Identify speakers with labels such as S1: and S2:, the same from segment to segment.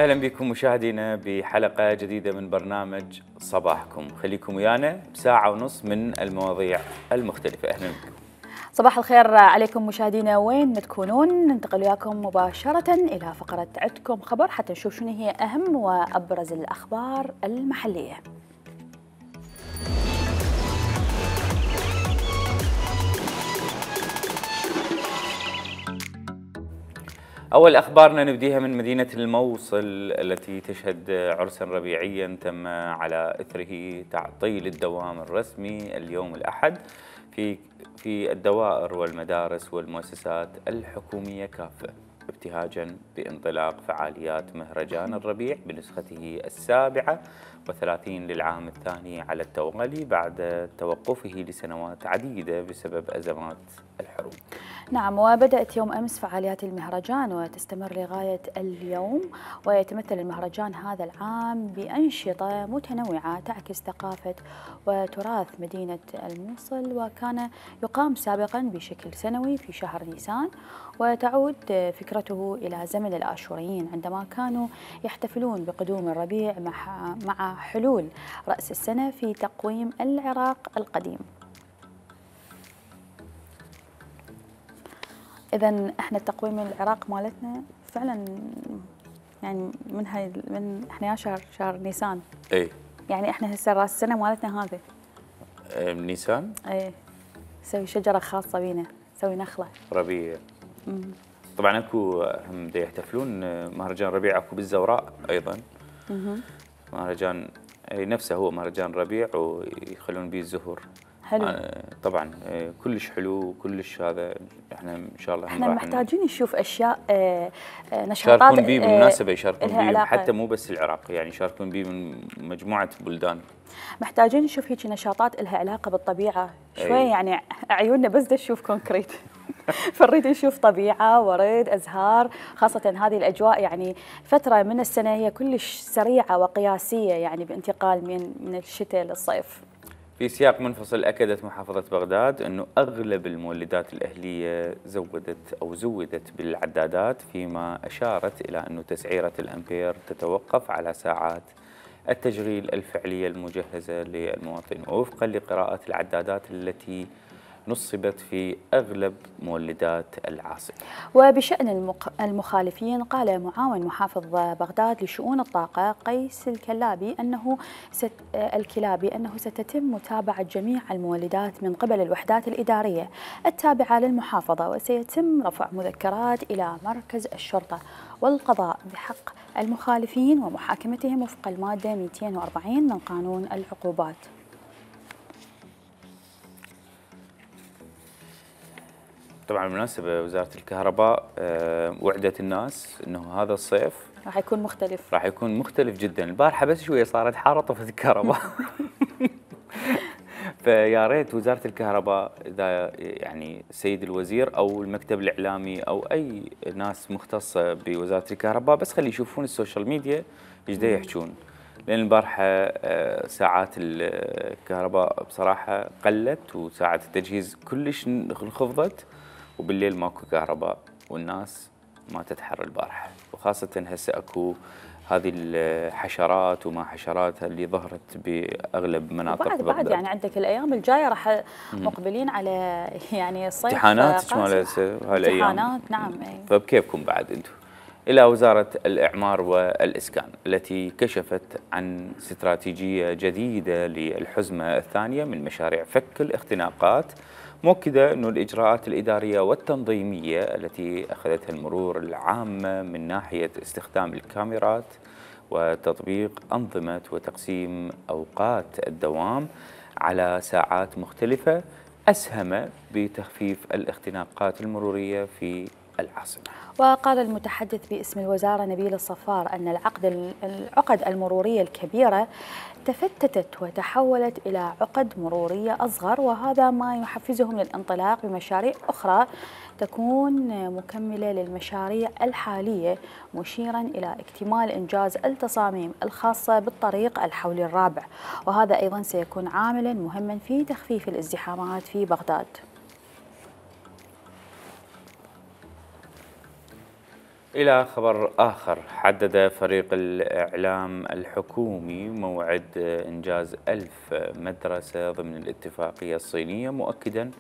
S1: أهلا بكم مشاهدينا بحلقة جديدة من برنامج صباحكم. خليكم ويانا بساعة ونص من المواضيع المختلفة. أهلا بكم.
S2: صباح الخير عليكم مشاهدينا وين ما تكونون. ننتقل وياكم مباشرة إلى فقرة عدكم خبر حتى نشوف شنو هي أهم وأبرز الأخبار المحلية.
S1: أول أخبارنا نبديها من مدينة الموصل التي تشهد عرسا ربيعيا تم على إثره تعطيل الدوام الرسمي اليوم الأحد في الدوائر والمدارس والمؤسسات الحكومية كافة، ابتهاجا بانطلاق فعاليات مهرجان الربيع بنسخته 37 للعام الثاني على التوالي بعد توقفه لسنوات عديدة بسبب أزمات الحروب.
S2: نعم، وبدأت يوم أمس فعاليات المهرجان وتستمر لغاية اليوم، ويتمثل المهرجان هذا العام بأنشطة متنوعة تعكس ثقافة وتراث مدينة الموصل، وكان يقام سابقا بشكل سنوي في شهر نيسان، وتعود فكرته إلى زمن الآشوريين عندما كانوا يحتفلون بقدوم الربيع مع حلول رأس السنة في تقويم العراق القديم. إذا احنا التقويم العراق مالتنا فعلا يعني من احنا يا شهر نيسان.
S1: اي
S2: يعني احنا هسه راس السنة مالتنا هذا
S1: نيسان.
S2: اي نسوي شجرة خاصة بينا، نسوي نخلة
S1: ربيع. طبعا اكو هم دا يحتفلون مهرجان ربيع اكو بالزوراء ايضا. مهرجان نفسه هو مهرجان ربيع ويخلون به الزهور.
S2: حلو.
S1: طبعا كلش حلو وكلش هذا احنا ان شاء الله
S2: احنا محتاجين نشوف اشياء نشاطات
S1: يشاركون به بالمناسبه، يشاركون به
S2: علاقة.
S1: حتى مو بس العراق، يعني يشاركون به من مجموعه بلدان.
S2: محتاجين نشوف هيك نشاطات لها علاقه بالطبيعه شوي. يعني عيوننا بس تشوف كونكريت فنريد نشوف طبيعه، ورد، ازهار، خاصه هذه الاجواء. يعني فتره من السنه هي كلش سريعه وقياسيه، يعني بانتقال من الشتاء للصيف.
S1: في سياق منفصل أكدت محافظة بغداد أنه أغلب المولدات الأهلية زودت بالعدادات، فيما أشارت إلى أنه تسعيرة الأمبير تتوقف على ساعات التشغيل الفعلية المجهزة للمواطن وفقا لقراءة العدادات التي نصبت في أغلب مولدات العاصمة.
S2: وبشأن المخالفين، قال معاون محافظ بغداد لشؤون الطاقة قيس الكلابي أنه ستتم متابعة جميع المولدات من قبل الوحدات الإدارية التابعة للمحافظة، وسيتم رفع مذكرات إلى مركز الشرطة والقضاء بحق المخالفين ومحاكمتهم وفق المادة 240 من قانون العقوبات.
S1: طبعا بالمناسبة وزارة الكهرباء وعدت الناس انه هذا الصيف
S2: راح يكون مختلف
S1: جدا. البارحة بس شوية صارت حارة طفت الكهرباء. فيا ريت وزارة الكهرباء اذا يعني السيد الوزير او المكتب الاعلامي او اي ناس مختصة بوزارة الكهرباء بس خلي يشوفون السوشيال ميديا ايش دا يحجون، لان البارحة ساعات الكهرباء بصراحة قلت وساعات التجهيز كلش انخفضت، وبالليل ماكو كهرباء والناس ما تتحر البارحة، وخاصة هسه اكو هذه الحشرات وما حشرات اللي ظهرت باغلب مناطق بغداد.
S2: بعد يعني عندك الايام الجايه راح مقبلين على يعني الصيف،
S1: امتحانات مال هسه هالايام.
S2: امتحانات نعم.
S1: فبكيفكم بعد انتم. الى وزارة الاعمار والاسكان التي كشفت عن استراتيجية جديدة للحزمة الثانية من مشاريع فك الاختناقات، مؤكدة أن الإجراءات الإدارية والتنظيمية التي أخذتها المرور العامة من ناحية استخدام الكاميرات وتطبيق أنظمة وتقسيم أوقات الدوام على ساعات مختلفة أسهم بتخفيف الاختناقات المرورية في العاصمة.
S2: وقال المتحدث باسم الوزارة نبيل الصفار أن العقد المرورية الكبيرة تفتتت وتحولت إلى عقد مرورية أصغر، وهذا ما يحفزهم للانطلاق بمشاريع أخرى تكون مكملة للمشاريع الحالية، مشيرا إلى اكتمال إنجاز التصاميم الخاصة بالطريق الحولي الرابع، وهذا أيضا سيكون عاملا مهما في تخفيف الازدحامات في بغداد.
S1: إلى خبر آخر، حدد فريق الإعلام الحكومي موعد إنجاز 1000 مدرسة ضمن الاتفاقية الصينية، مؤكداً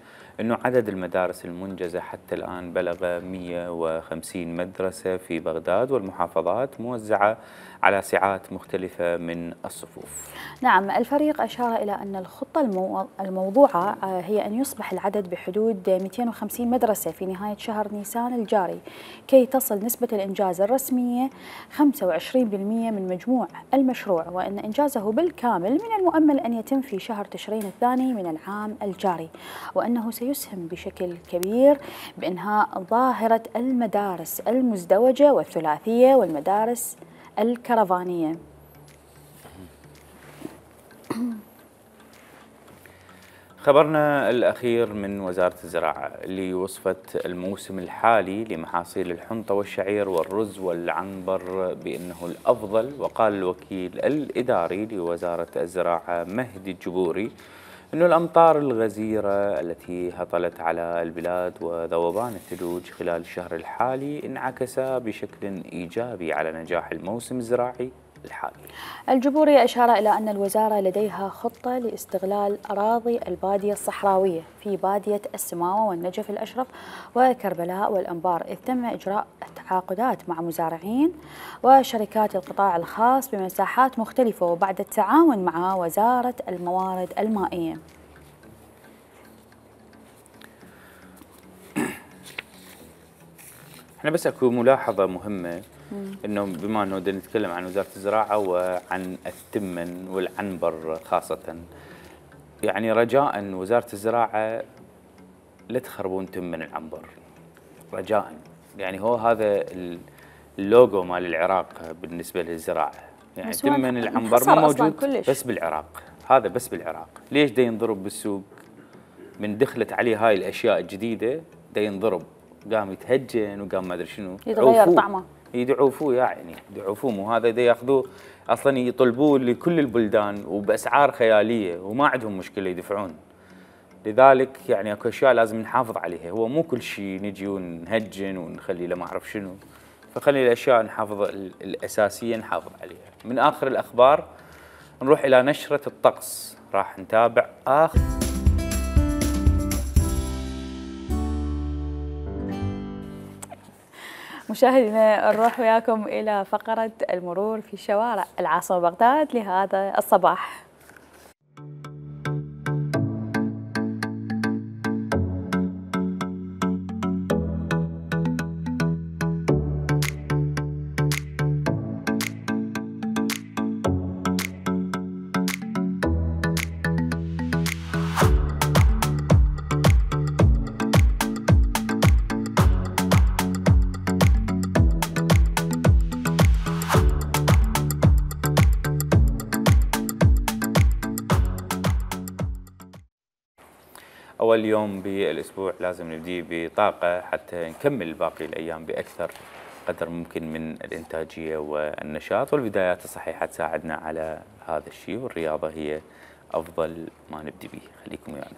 S1: أنه عدد المدارس المنجزة حتى الآن بلغ 150 مدرسة في بغداد والمحافظات، موزعة على سعات مختلفة من الصفوف.
S2: نعم، الفريق أشار إلى أن الخطة الموضوعة هي أن يصبح العدد بحدود 250 مدرسة في نهاية شهر نيسان الجاري، كي تصل نسبة الإنجاز الرسمية 25% من مجموع المشروع، وأن إنجازه بالكامل من المؤمل أن يتم في شهر تشرين الثاني من العام الجاري، وأنه سيسهم بشكل كبير بإنهاء ظاهرة المدارس المزدوجة والثلاثية والمدارس الكرفانية.
S1: خبرنا الأخير من وزارة الزراعة اللي وصفت الموسم الحالي لمحاصيل الحنطة والشعير والرز والعنبر بأنه الأفضل، وقال الوكيل الإداري لوزارة الزراعة مهدي الجبوري أنه الأمطار الغزيرة التي هطلت على البلاد وذوبان الثلوج خلال الشهر الحالي انعكس بشكل إيجابي على نجاح الموسم الزراعي الحالي.
S2: الجبوري أشار إلى أن الوزارة لديها خطة لاستغلال أراضي البادية الصحراوية في بادية السماوة والنجف الأشرف وكربلاء والأنبار، إذ تم إجراء تعاقدات مع مزارعين وشركات القطاع الخاص بمساحات مختلفة وبعد التعاون مع وزارة الموارد المائية.
S1: احنا بس اكو ملاحظة مهمة، انه بما انه بدنا نتكلم عن وزارة الزراعة وعن التمن والعنبر خاصة، يعني رجاء وزارة الزراعة لا تخربون تمن العنبر رجاء، يعني هو هذا اللوجو مال العراق بالنسبة للزراعة، يعني تمن العنبر مو موجود بس بالعراق، هذا بس بالعراق. ليش دا ينضرب بالسوق من دخلت عليه هاي الاشياء الجديدة؟ دا ينضرب، قام يتهجن وقام ما ادري شنو،
S2: يتغير طعمه،
S1: يدعوفوه يعني يدعوفوه، مو هذا دا ياخذوه اصلا يطلبوه لكل البلدان وباسعار خياليه وما عندهم مشكله يدفعون. لذلك يعني اكو اشياء لازم نحافظ عليها، هو مو كل شيء نجي ونهجن ونخلي له ما اعرف شنو، فخلي الاشياء نحافظ الاساسيه نحافظ عليها. من اخر الاخبار نروح الى نشره الطقس، راح نتابع اخر
S2: مشاهدينا. نروح وياكم إلى فقرة المرور في شوارع العاصمة بغداد لهذا الصباح.
S1: أول يوم بالأسبوع لازم نبدي بطاقة حتى نكمل باقي الأيام بأكثر قدر ممكن من الإنتاجية والنشاط، والبدايات الصحيحة تساعدنا على هذا الشيء، والرياضة هي أفضل ما نبدي به. خليكم ويانا.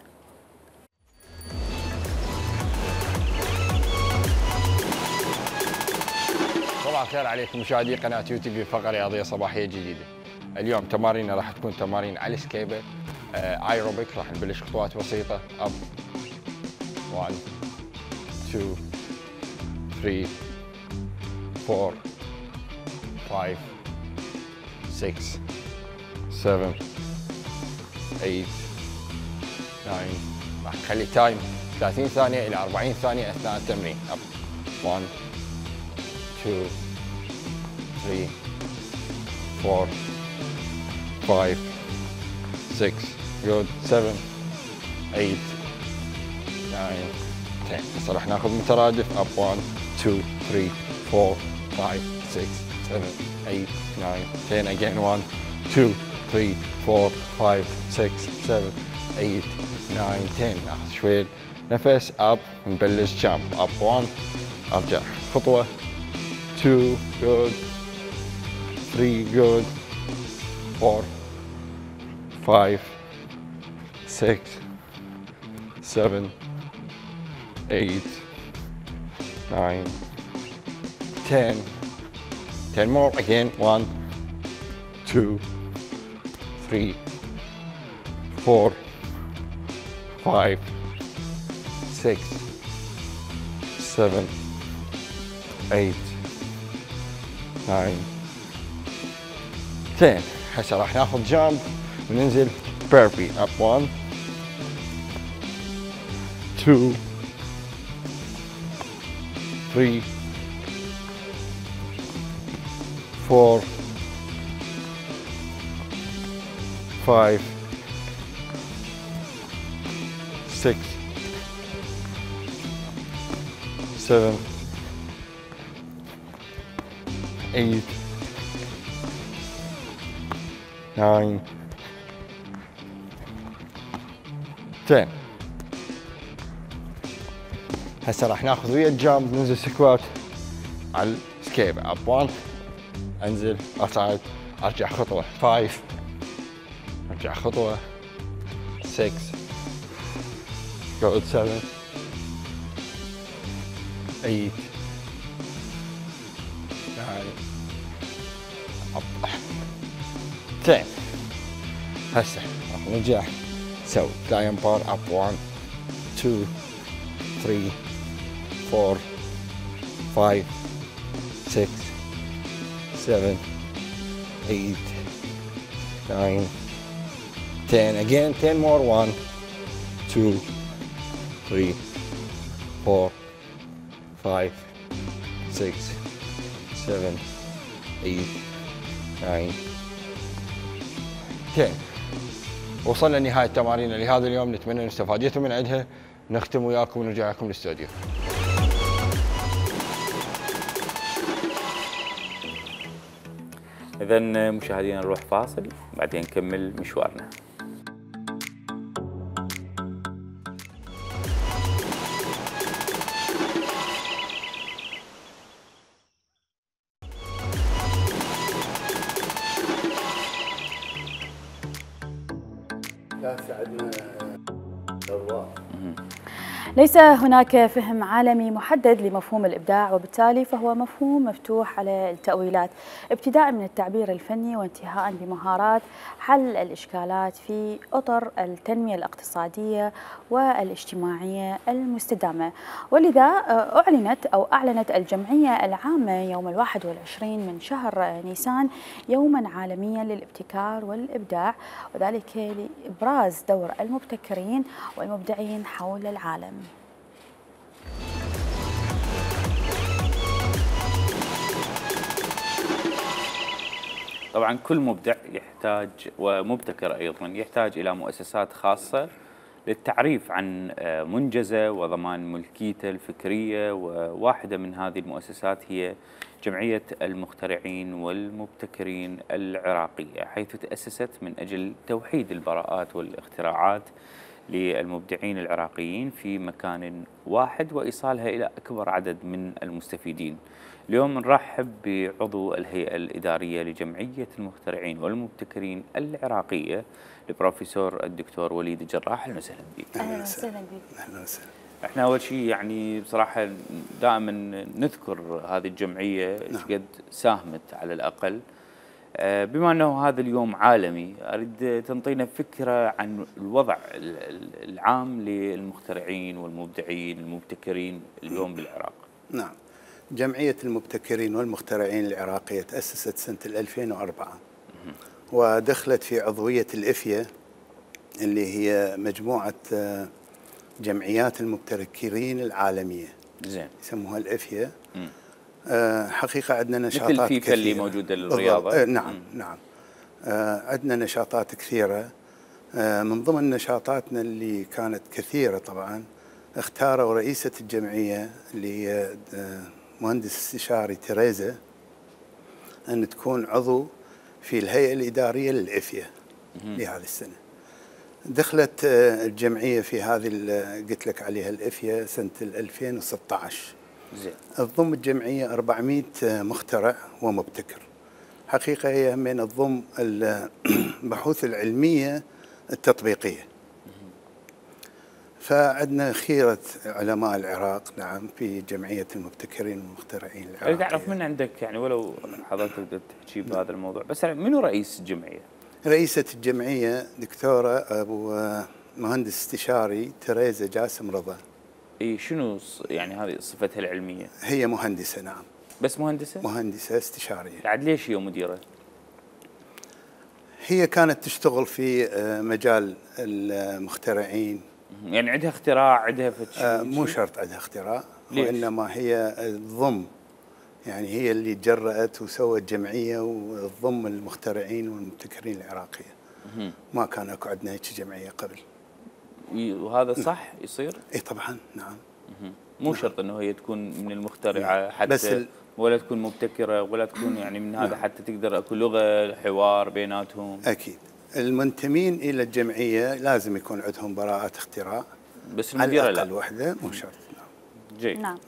S3: صباح الخير عليكم مشاهدي قناة يوتيوب، فقرة رياضية صباحية جديدة. اليوم تماريننا راح تكون تمارين على السكيبل ايروبيك. راح نبلش خطوات بسيطة، اب 1 2 3 4 5 6 7 8 9. راح نخلي تايم 30 ثانية إلى 40 ثانية أثناء التمرين. اب 1 2 3 4 5 6 good 7 8 9 10. هسه راح ناخذ مترادف اب 1 2 3 4 5 6 7 8 9 10 again 1 2 3 4 5 6 7 8 9 10. ناخذ شوية نفس اب نبلش جامب اب 1 ارجع خطوة 2 good 3 good 4 5 6 7 8 9 10. 10 more again. 1, 2, 3, 4, 5, 6, 7, 8, 9, 10. هسه راح ناخذ جامب وننزل بيربي. اب 1 2 3 4 5 6 7 8 9 10. هسه راح ناخذ ويا الجامب ننزل سكوات على السكيب. اب 1 انزل اصعد ارجع خطوه. 5 ارجع خطوه. 6 قعد. 7 8 9 10. هسه راح نرجع نسوي لاين بار. اب 1 2 3 4 5 6 7 8 9 10. again 10 more. 1 2 3 4 5 6 7 8 9 10. وصلنا لنهاية تماريننا لهذا اليوم، نتمنى ان استفاديتوا من عندها. نختم وياكم ونرجع لكم الاستوديو.
S1: إذا مشاهدينا نروح فاصل بعدين نكمل مشوارنا.
S2: ليس هناك فهم عالمي محدد لمفهوم الإبداع، وبالتالي فهو مفهوم مفتوح على التأويلات، ابتداء من التعبير الفني وانتهاء بمهارات حل الإشكالات في أطر التنمية الاقتصادية والاجتماعية المستدامة. ولذا أعلنت الجمعية العامة يوم 21 من شهر نيسان يوما عالميا للابتكار والإبداع، وذلك لإبراز دور المبتكرين والمبدعين حول العالم.
S1: طبعا كل مبدع يحتاج ومبتكر أيضا يحتاج إلى مؤسسات خاصة للتعريف عن منجزه وضمان ملكيته الفكرية، وواحدة من هذه المؤسسات هي جمعية المخترعين والمبتكرين العراقية، حيث تأسست من أجل توحيد البراءات والاختراعات للمبدعين العراقيين في مكان واحد وإيصالها إلى أكبر عدد من المستفيدين. اليوم نرحب بعضو الهيئة الإدارية لجمعية المخترعين والمبتكرين العراقية البروفيسور الدكتور وليد الجراح. أهلا وسهلا بك.
S2: أهلا وسهلا بك.
S4: أهلا وسهلا.
S1: احنا أول شيء يعني بصراحة دائما نذكر هذه الجمعية ايش قد ساهمت على الأقل. بما أنه هذا اليوم عالمي أريد تنطينا فكرة عن الوضع العام للمخترعين والمبدعين المبتكرين اليوم بالعراق.
S4: نعم، جمعية المبتكرين والمخترعين العراقية تأسست سنة 2004 ودخلت في عضوية الإفيا اللي هي مجموعة جمعيات المبتكرين العالمية.
S1: زين.
S4: يسموها الإفيا. حقيقة عندنا نشاطات
S1: مثل فيفا
S4: كثيرة
S1: اللي موجودة للرياضة.
S4: نعم نعم. عندنا نشاطات كثيرة. من ضمن نشاطاتنا اللي كانت كثيرة طبعا اختاروا رئيسة الجمعية اللي هي مهندس استشاري تيريزا أن تكون عضو في الهيئة الإدارية للإفيا لهذه السنة. دخلت الجمعية في هذه قلت لك عليها الإفيا سنة 2016.
S1: زين.
S4: تضم الجمعية 400 مخترع ومبتكر. حقيقة هي من تضم البحوث العلمية التطبيقية. فعندنا خيرة علماء العراق نعم في جمعية المبتكرين والمخترعين
S1: اريد
S4: العراقية.
S1: اعرف من عندك يعني ولو حضرتك تقدر تحكي بهذا الموضوع، بس يعني منو رئيس الجمعيه؟
S4: رئيسة الجمعية دكتورة أبو مهندس استشاري تريزا جاسم رضا.
S1: اي شنو يعني هذه صفتها العلميه؟
S4: هي مهندسة نعم.
S1: بس مهندسه؟
S4: مهندسة استشارية.
S1: بعد ليش هي مديره؟
S4: هي كانت تشتغل في مجال المخترعين.
S1: يعني عندها اختراع، عندها
S4: مو شرط عندها اختراع،
S1: ليش؟
S4: وإنما هي تضم، يعني هي اللي تجرأت وسوت جمعية وتضم المخترعين والمبتكرين العراقية. ما كان اكو عندنا هيك جمعية قبل.
S1: وهذا صح يصير؟
S4: اي طبعا نعم.
S1: مو
S4: نعم.
S1: شرط انه هي تكون من المخترعة حتى،
S4: بس
S1: ولا تكون مبتكرة ولا تكون يعني من هذا، حتى تقدر اكو لغة حوار بيناتهم.
S4: اكيد المنتمين الى الجمعية لازم يكون عندهم براءات اختراع،
S1: بس المديرة
S4: على
S1: لا.
S4: الأقل وحدة مو شرط.
S1: جيد.
S2: نعم.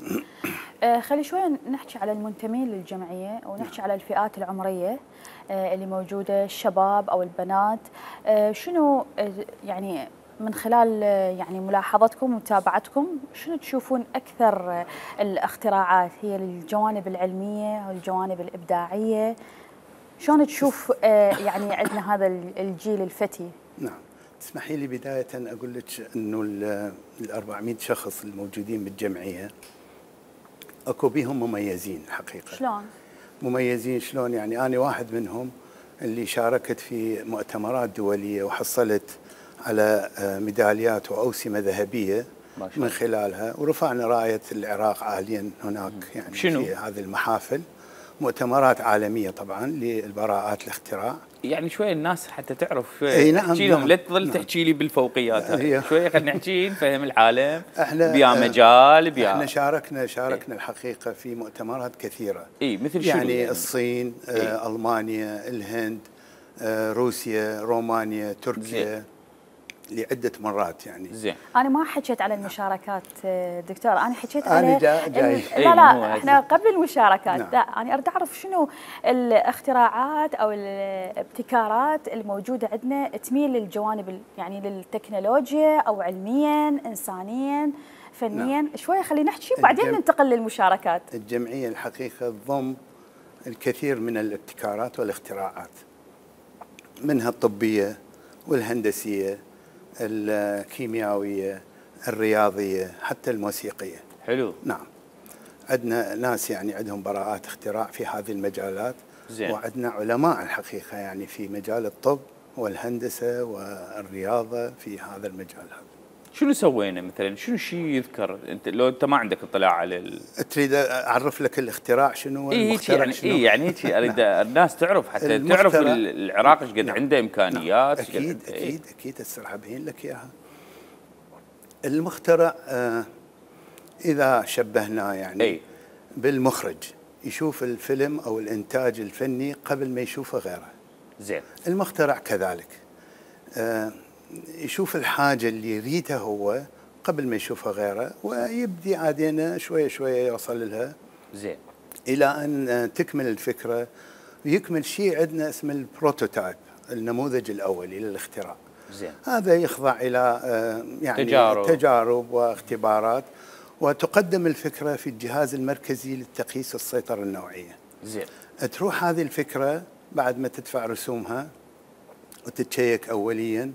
S2: خلي شوي نحكي على المنتمين للجمعية ونحكي على الفئات العمرية اللي موجودة، الشباب أو البنات. شنو يعني من خلال يعني ملاحظتكم ومتابعتكم شنو تشوفون أكثر الاختراعات هي الجوانب العلمية أو الجوانب الإبداعية؟ شلون تشوف يعني عندنا هذا الجيل الفتي؟
S4: نعم. تسمحي لي بداية أقول لك أنه ال 400 شخص الموجودين بالجمعية أكو بيهم مميزين الحقيقة.
S2: شلون؟
S4: مميزين شلون؟ يعني أنا واحد منهم اللي شاركت في مؤتمرات دولية وحصلت على ميداليات وأوسمة ذهبية من خلالها، ورفعنا راية العراق عاليا هناك يعني
S1: شنو؟
S4: في هذه المحافل، مؤتمرات عالمية طبعا للبراءات الاختراع.
S1: يعني شوي الناس حتى تعرف شوي.
S4: اي نعم.
S1: احكي لهم
S4: نعم.
S1: لا تظل
S4: نعم.
S1: تحكي لي بالفوقيات هاي.
S4: أيوه.
S1: شوي خلينا نحكي نفهم العالم.
S4: احنا
S1: بيا مجال بيا
S4: احنا شاركنا الحقيقة في مؤتمرات كثيرة.
S1: اي مثل شنو
S4: يعني الصين، ألمانيا، الهند، روسيا، رومانيا، تركيا، لعدة مرات يعني.
S1: زين.
S2: أنا ما حكيت على المشاركات دكتور، أنا حكيت
S4: أنا
S2: على
S4: جاي.
S2: لا احنا قبل المشاركات.
S4: نعم.
S2: لا أنا أريد أعرف شنو الاختراعات أو الابتكارات الموجودة عندنا تميل للجوانب يعني للتكنولوجيا أو علميا إنسانيا فنيا.
S4: نعم.
S2: شوية خلينا نحكي وبعدين ننتقل للمشاركات.
S4: الجمعية الحقيقة تضم الكثير من الابتكارات والاختراعات، منها الطبية والهندسية، الكيميائية، الرياضية، حتى الموسيقية.
S1: حلو.
S4: نعم. عندنا ناس يعني عندهم براءات اختراع في هذه المجالات.
S1: زين.
S4: وعندنا علماء الحقيقة يعني في مجال الطب والهندسة والرياضة في هذا المجال هذا.
S1: شنو سوينا مثلا؟ شنو شيء يذكر انت لو انت ما عندك اطلاع على
S4: تريد اعرف لك الاختراع شنو والمخترع
S1: يعني
S4: شنو؟
S1: يعني هيك اريد الناس تعرف حتى تعرف العراق ايش قد
S4: نعم.
S1: عنده امكانيات.
S4: اكيد اكيد هسه راح ابين لك اياها. المخترع اذا شبهناه يعني بالمخرج، يشوف الفيلم او الانتاج الفني قبل ما يشوفه غيره.
S1: زين.
S4: المخترع كذلك يشوف الحاجه اللي يريدها هو قبل ما يشوفها غيره، ويبدي عادينا شويه شويه يوصل لها.
S1: زين.
S4: الى ان تكمل الفكره ويكمل شيء عندنا اسمه البروتوتايب، النموذج الاولي للاختراع.
S1: زين.
S4: هذا يخضع الى يعني تجارب واختبارات، وتقدم الفكره في الجهاز المركزي للتقييس والسيطره النوعيه.
S1: زين.
S4: تروح هذه الفكره بعد ما تدفع رسومها وتتشيك اوليا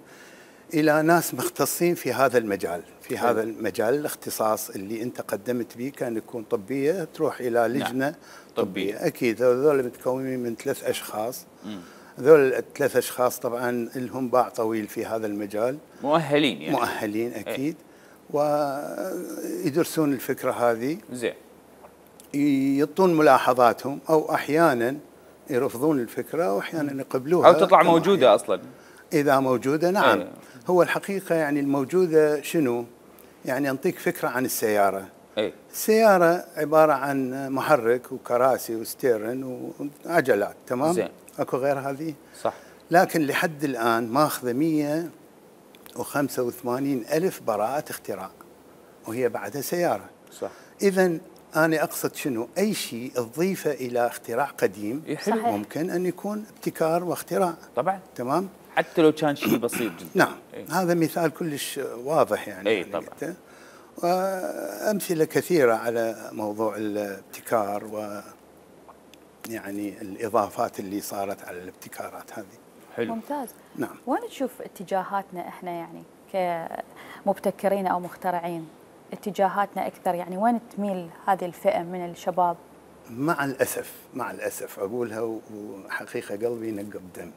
S4: الى ناس مختصين في هذا المجال، في هذا المجال الاختصاص اللي انت قدمت به، كان يكون طبيه، تروح الى لجنه.
S1: نعم. طبيه.
S4: اكيد هذول متكونين من 3 اشخاص. هذول ال3 اشخاص طبعا لهم باع طويل في هذا المجال،
S1: مؤهلين يعني.
S4: مؤهلين اكيد. ويدرسون الفكره هذه.
S1: زين.
S4: يعطون ملاحظاتهم، او احيانا يرفضون الفكره واحيانا يقبلوها
S1: او تطلع موجوده اصلا.
S4: اذا موجوده نعم. هو الحقيقه يعني الموجوده شنو؟ يعني انطيك فكره عن السياره. السياره عباره عن محرك وكراسي وستيرن وعجلات، تمام؟
S1: زين.
S4: اكو غير هذه؟
S1: صح.
S4: لكن لحد الان ماخذه 185 ألف براءة اختراع، وهي بعدها سيارة.
S1: صح.
S4: إذا أنا أقصد شنو؟ أي شيء تضيفه إلى اختراع قديم
S1: صحيح.
S4: ممكن أن يكون ابتكار واختراع.
S1: طبعا.
S4: تمام؟
S1: حتى لو كان شيء بسيط جدا.
S4: نعم.
S1: إيه.
S4: هذا مثال كلش واضح يعني.
S1: اي
S4: أنا
S1: طبعا.
S4: قلته. وأمثلة كثيرة على موضوع الابتكار يعني الإضافات اللي صارت على الابتكارات هذه.
S1: حلو.
S2: ممتاز.
S4: نعم.
S2: وين تشوف اتجاهاتنا احنا يعني كمبتكرين او مخترعين؟ اتجاهاتنا اكثر يعني وين تميل هذه الفئة من الشباب؟
S4: مع الأسف أقولها وحقيقة قلبي نقب دم.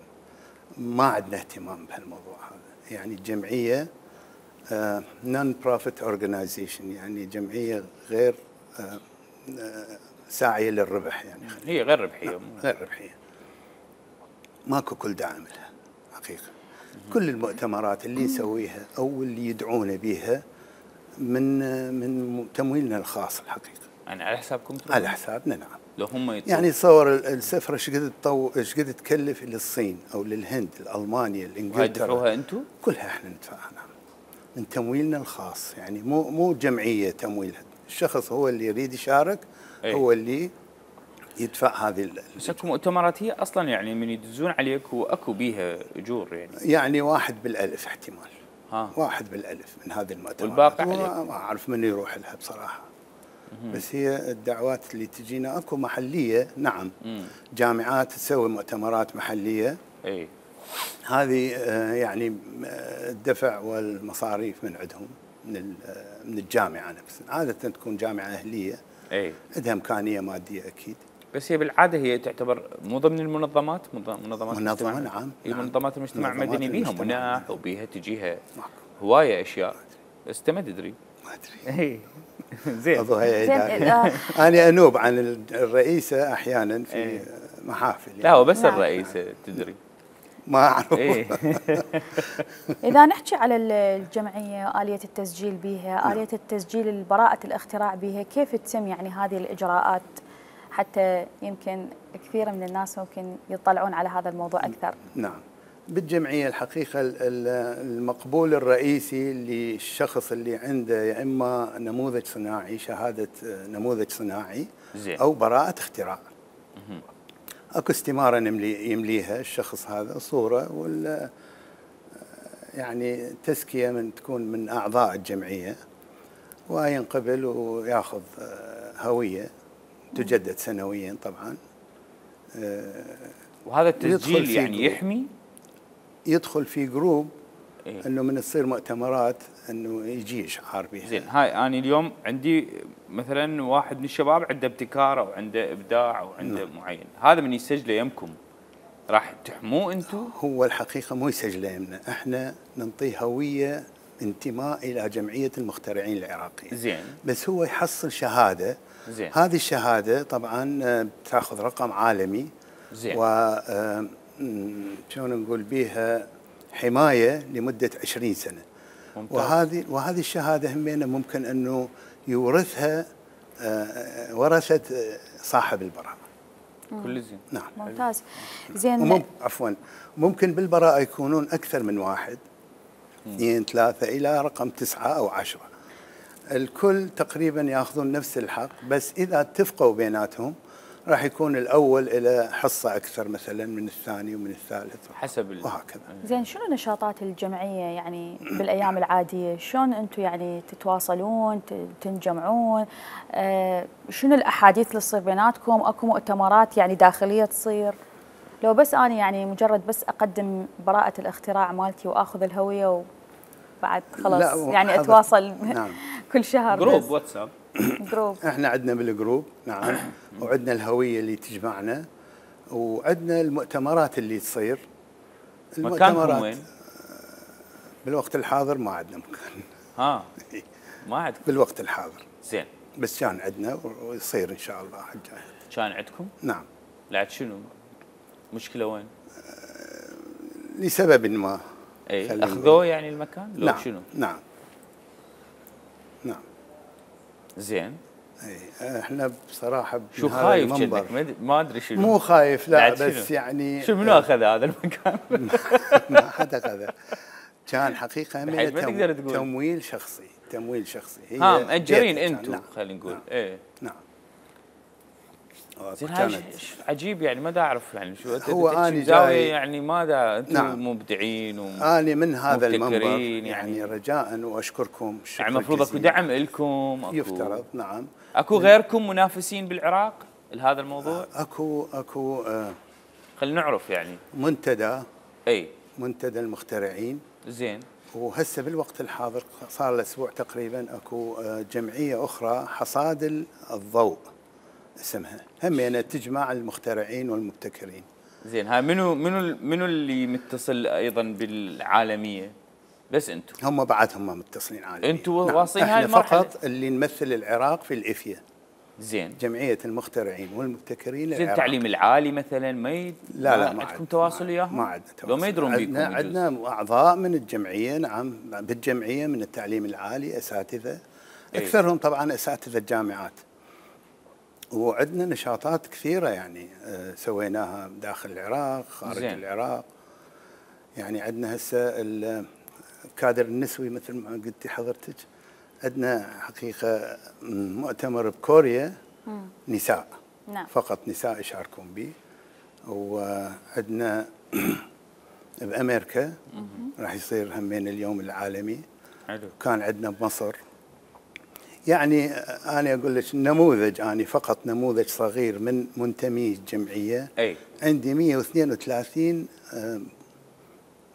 S4: ما عندنا اهتمام بهالموضوع هذا. يعني الجمعية نون بروفيت اورجنايزيشن، يعني جمعية غير ساعية للربح، يعني
S1: هي غير ربحية.
S4: غير ربحية. ماكو كل داعم لها حقيقة. كل المؤتمرات اللي نسويها أو اللي يدعونا بها من تمويلنا الخاص الحقيقة.
S1: يعني على حسابكم تروحون؟
S4: على حسابنا نعم.
S1: لو هم
S4: يعني تصور السفرة ايش قد تكلف للصين او للهند، لألمانيا، لانجلترا.
S1: تدفعوها انتم؟
S4: كلها احنا ندفعها نعم. من تمويلنا الخاص، يعني مو جمعية تمويلها، الشخص هو اللي يريد يشارك.
S1: أي.
S4: هو اللي يدفع هذه
S1: بس اكو مؤتمرات هي اصلا يعني من يدزون عليك واكو بيها اجور
S4: يعني 1 بالألف احتمال. 1 بالألف من هذه المؤتمرات.
S1: والباقي
S4: ما اعرف من يروح لها بصراحة. بس هي الدعوات اللي تجينا اكو محلية نعم. جامعات تسوي مؤتمرات محلية.
S1: اي.
S4: هذه يعني الدفع والمصاريف من عندهم من الجامعة نفسها. عادة تكون جامعة أهلية.
S1: اي.
S4: عندها إمكانية مادية أكيد.
S1: بس هي بالعادة هي تعتبر مو ضمن المنظمات،
S4: منظمة نعم.
S1: هي منظمات المجتمع المدني بيها مناح وبيها تجيها
S4: معكم.
S1: هواية أشياء. بس أنت ما تدري.
S4: ما أدري.
S1: اي. زين.
S4: أنا أنوب عن الرئيسة أحيانا في محافل.
S1: لا هو بس الرئيسة تدري.
S4: ما أعرف.
S2: إذا نحكي على الجمعية آلية التسجيل بها، آلية التسجيل براءة الاختراع بها، كيف تتم يعني هذه الإجراءات حتى يمكن كثير من الناس ممكن يطلعون على هذا الموضوع أكثر؟
S4: نعم. بالجمعية الحقيقة المقبول الرئيسي للشخص اللي عنده يا إما نموذج صناعي، شهادة نموذج صناعي، أو براءة اختراع. اكو استمارة يمليها الشخص هذا، صورة يعني تزكية تكون من أعضاء الجمعية، وينقبل وياخذ هوية تجدد سنويا طبعا.
S1: وهذا التسجيل يعني يحمي؟
S4: يدخل في جروب. انه من تصير مؤتمرات انه يجي اشعار بها.
S1: زين. هاي انا اليوم عندي مثلا واحد من الشباب عنده ابتكار او عنده ابداع او عنده معين، هذا من يسجله يمكم راح تحموه انتم؟
S4: هو الحقيقه مو يسجله يمنا، احنا ننطيه هويه انتماء الى جمعيه المخترعين العراقيه.
S1: زين.
S4: بس هو يحصل شهاده.
S1: زين.
S4: هذه الشهاده طبعا بتاخذ رقم عالمي.
S1: زين.
S4: شلون نقول بيها حماية لمدة 20 سنة. ممتاز. وهذه الشهادة همينة ممكن أنه يورثها ورثة صاحب البراءة.
S1: كل زين.
S2: نعم. ممتاز. زين.
S4: عفوا، ممكن بالبراءة يكونون أكثر من واحد، 2 3 إلى رقم 9 أو 10. الكل تقريبا يأخذون نفس الحق، بس إذا اتفقوا بيناتهم راح يكون الأول إلى حصة أكثر مثلا من الثاني ومن الثالث
S1: حسب
S4: وهكذا.
S2: زين، شنو نشاطات الجمعية يعني بالأيام العادية؟ شلون أنتم يعني تتواصلون، تنجمعون؟ شنو الأحاديث اللي تصير بيناتكم؟ أكو مؤتمرات يعني داخلية تصير؟ لو بس أنا يعني مجرد بس أقدم براءة الاختراع مالتي وآخذ الهوية وبعد خلاص يعني أتواصل. نعم. كل شهر
S1: جروب واتساب.
S2: جروب.
S4: احنا عندنا بالجروب نعم. وعندنا الهوية اللي تجمعنا، وعندنا المؤتمرات اللي تصير.
S1: مكانكم وين؟
S4: بالوقت الحاضر ما عندنا مكان.
S1: ما عندكم
S4: بالوقت الحاضر.
S1: زين.
S4: بس كان عندنا ويصير ان شاء الله حجاي.
S1: كان عندكم؟
S4: نعم.
S1: لعد شنو؟ مشكلة وين؟
S4: لسبب ما.
S1: اي اخذوه يعني المكان؟ لو
S4: نعم.
S1: شنو؟
S4: نعم.
S1: زين.
S4: اي احنا بصراحه
S1: شو خايف جدك؟ ما ادري شنو.
S4: مو خايف لا، بس يعني
S1: شو منو اخذ هذا المكان؟
S4: ما حدا اخذه. كان حقيقه
S1: من
S4: تمويل شخصي. تمويل شخصي.
S1: مأجرين انتم خلينا نقول.
S4: نعم.
S1: ايه.
S4: نعم.
S1: زين هاي عجيب يعني ما دا اعرف يعني شو
S4: هو اني
S1: زاويه
S4: جاي
S1: يعني ما دا انتم
S4: نعم.
S1: مبدعين
S4: اني من هذا المنبر
S1: يعني
S4: رجاء واشكركم
S1: يعني المفروض اكو دعم لكم
S4: يفترض نعم.
S1: اكو غيركم منافسين بالعراق لهذا الموضوع؟
S4: اكو
S1: خلينا نعرف يعني
S4: منتدى المخترعين.
S1: زين.
S4: وهسه بالوقت الحاضر صار له اسبوع تقريبا اكو جمعيه اخرى حصاد الضوء اسمها، همينه تجمع المخترعين والمبتكرين.
S1: زين هاي منو اللي متصل ايضا بالعالميه؟ بس انتم؟
S4: هم بعدهم متصلين عالميا.
S1: انتم واصلين هاي المرحله؟
S4: فقط اللي نمثل العراق في الافيا.
S1: زين.
S4: جمعيه المخترعين والمبتكرين
S1: زين التعليم العالي مثلا
S4: لا ما
S1: عندكم تواصل وياهم؟
S4: ما عندنا تواصل.
S1: لو ما يدرون بيكم
S4: عندنا اعضاء من الجمعيه نعم، بالجمعيه من التعليم العالي اساتذه، اكثرهم طبعا اساتذه الجامعات. وعندنا نشاطات كثيره يعني سويناها داخل العراق خارج زين. العراق يعني عندنا هسه الكادر النسوي مثل ما قلتي حضرتك، عندنا حقيقه مؤتمر بكوريا نساء
S2: نعم.
S4: فقط نساء يشاركون به. وعندنا بامريكا راح يصير همين اليوم العالمي.
S1: حلو.
S4: كان عندنا بمصر. يعني انا اقول لك نموذج، انا فقط نموذج صغير من منتمي الجمعيه. عندي 132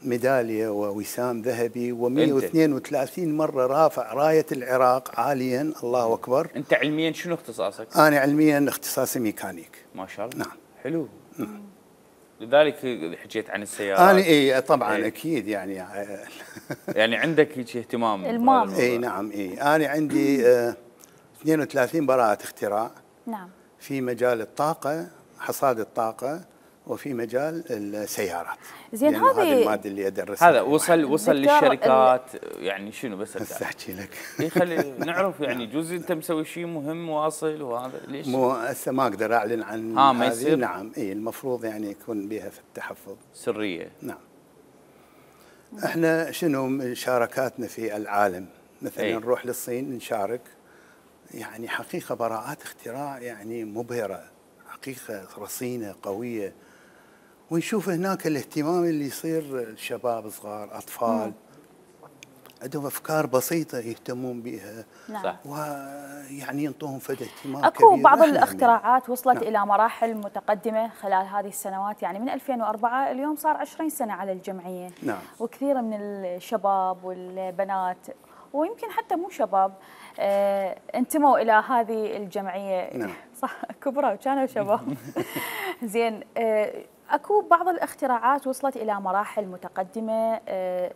S4: ميداليه ووسام ذهبي و132 مره رافع رايه العراق عاليا. الله اكبر.
S1: انت علميا شنو اختصاصك؟
S4: انا علميا اختصاصي ميكانيك.
S1: ما شاء الله.
S4: نعم.
S1: حلو. لذلك حكيت عن السيارات.
S4: انا طبعا اكيد يعني
S1: يعني عندك هيك اهتمام
S2: المام.
S4: نعم انا عندي 32 براءة اختراع.
S2: نعم.
S4: في مجال الطاقة، حصاد الطاقة، وفي مجال السيارات.
S2: زين
S4: هذه المادة اللي ادرسها.
S1: هذا وصل للشركات يعني شنو بس
S4: احكي لك.
S1: خلي نعرف يعني جزء انت مسوي شيء مهم واصل وهذا ليش؟
S4: مو هسه ما اقدر اعلن عن
S1: ما يصير.
S4: نعم المفروض يعني يكون بها في التحفظ.
S1: سرية.
S4: نعم. احنا شنو مشاركاتنا في العالم؟ مثلا نروح للصين نشارك، يعني حقيقة براءات اختراع يعني مبهرة، حقيقة رصينة قوية. ونشوف هناك الاهتمام اللي يصير الشباب صغار أطفال عندهم أفكار بسيطة يهتمون بها.
S2: نعم.
S4: ويعني ينطوهم فد اهتمام
S2: أكو
S4: كبير.
S2: بعض الاختراعات وصلت نعم. إلى مراحل متقدمة خلال هذه السنوات، يعني من 2004 اليوم صار 20 سنة على الجمعية.
S4: نعم.
S2: وكثير من الشباب والبنات ويمكن حتى مو شباب انتموا إلى هذه الجمعية.
S4: نعم.
S2: صح كبروا كانوا شباب. زين اكو بعض الاختراعات وصلت الى مراحل متقدمه،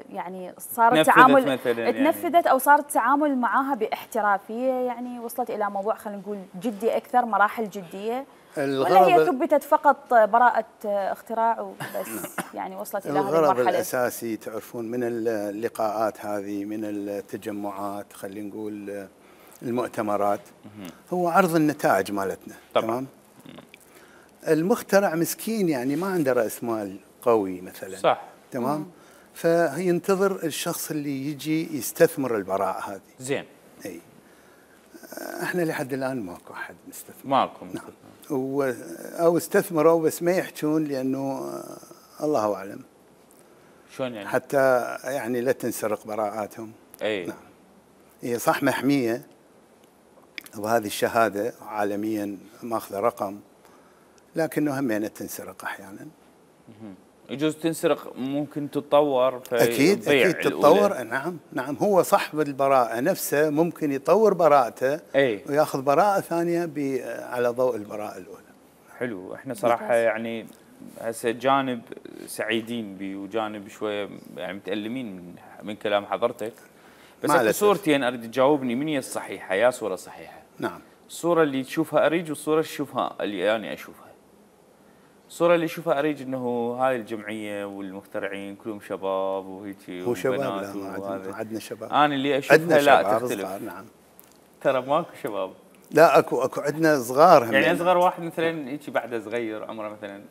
S2: يعني صار التعامل تنفذت او صار التعامل معها باحترافيه، يعني وصلت الى موضوع خلينا نقول جدي اكثر، مراحل جديه، ولا هي ثبتت فقط براءه اختراع وبس؟ يعني وصلت الى هذه المرحله.
S4: الغرض الاساسي تعرفون من اللقاءات هذه، من التجمعات، خلينا نقول المؤتمرات، هو عرض النتائج مالتنا. تمام. المخترع مسكين يعني ما عنده رأس مال قوي مثلا.
S1: صح.
S4: تمام. فينتظر الشخص اللي يجي يستثمر البراءة هذه.
S1: زين.
S4: اي احنا لحد الآن ماكو أحد مستثمر.
S1: ماكو.
S4: نعم. او استثمروا بس ما يحجون لأنه الله أعلم.
S1: شلون يعني؟
S4: حتى يعني لا تنسرق براءاتهم.
S1: نعم.
S4: هي صح محمية، وهذه الشهادة عالميا ماخذة رقم، لكنه همينة تنسرق احيانا.
S1: يجوز تنسرق، ممكن تتطور
S4: اكيد تتطور. نعم هو صاحب البراءة نفسه ممكن يطور براءته وياخذ براءة ثانية على ضوء البراءة الأولى.
S1: حلو. احنا صراحة يعني هسه جانب سعيدين به وجانب شوية يعني متألمين من كلام حضرتك، بس اكو صورتين اريد تجاوبني من هي الصحيحة، يا صورة صحيحة.
S4: نعم.
S1: الصورة اللي تشوفها أريج والصورة اللي تشوفها اللي أنا أشوفها. الصورة اللي أشوفها أريج إنه هاي الجمعية والمخترعين كلهم شباب وهيك
S4: وبنات. لا عندنا شباب.
S1: أنا اللي أشوفها لا تختلف.
S4: نعم.
S1: ترى ماكو شباب.
S4: لا اكو عندنا صغار هم.
S1: يعني أصغر واحد مثلا هيك بعده صغير عمره مثلا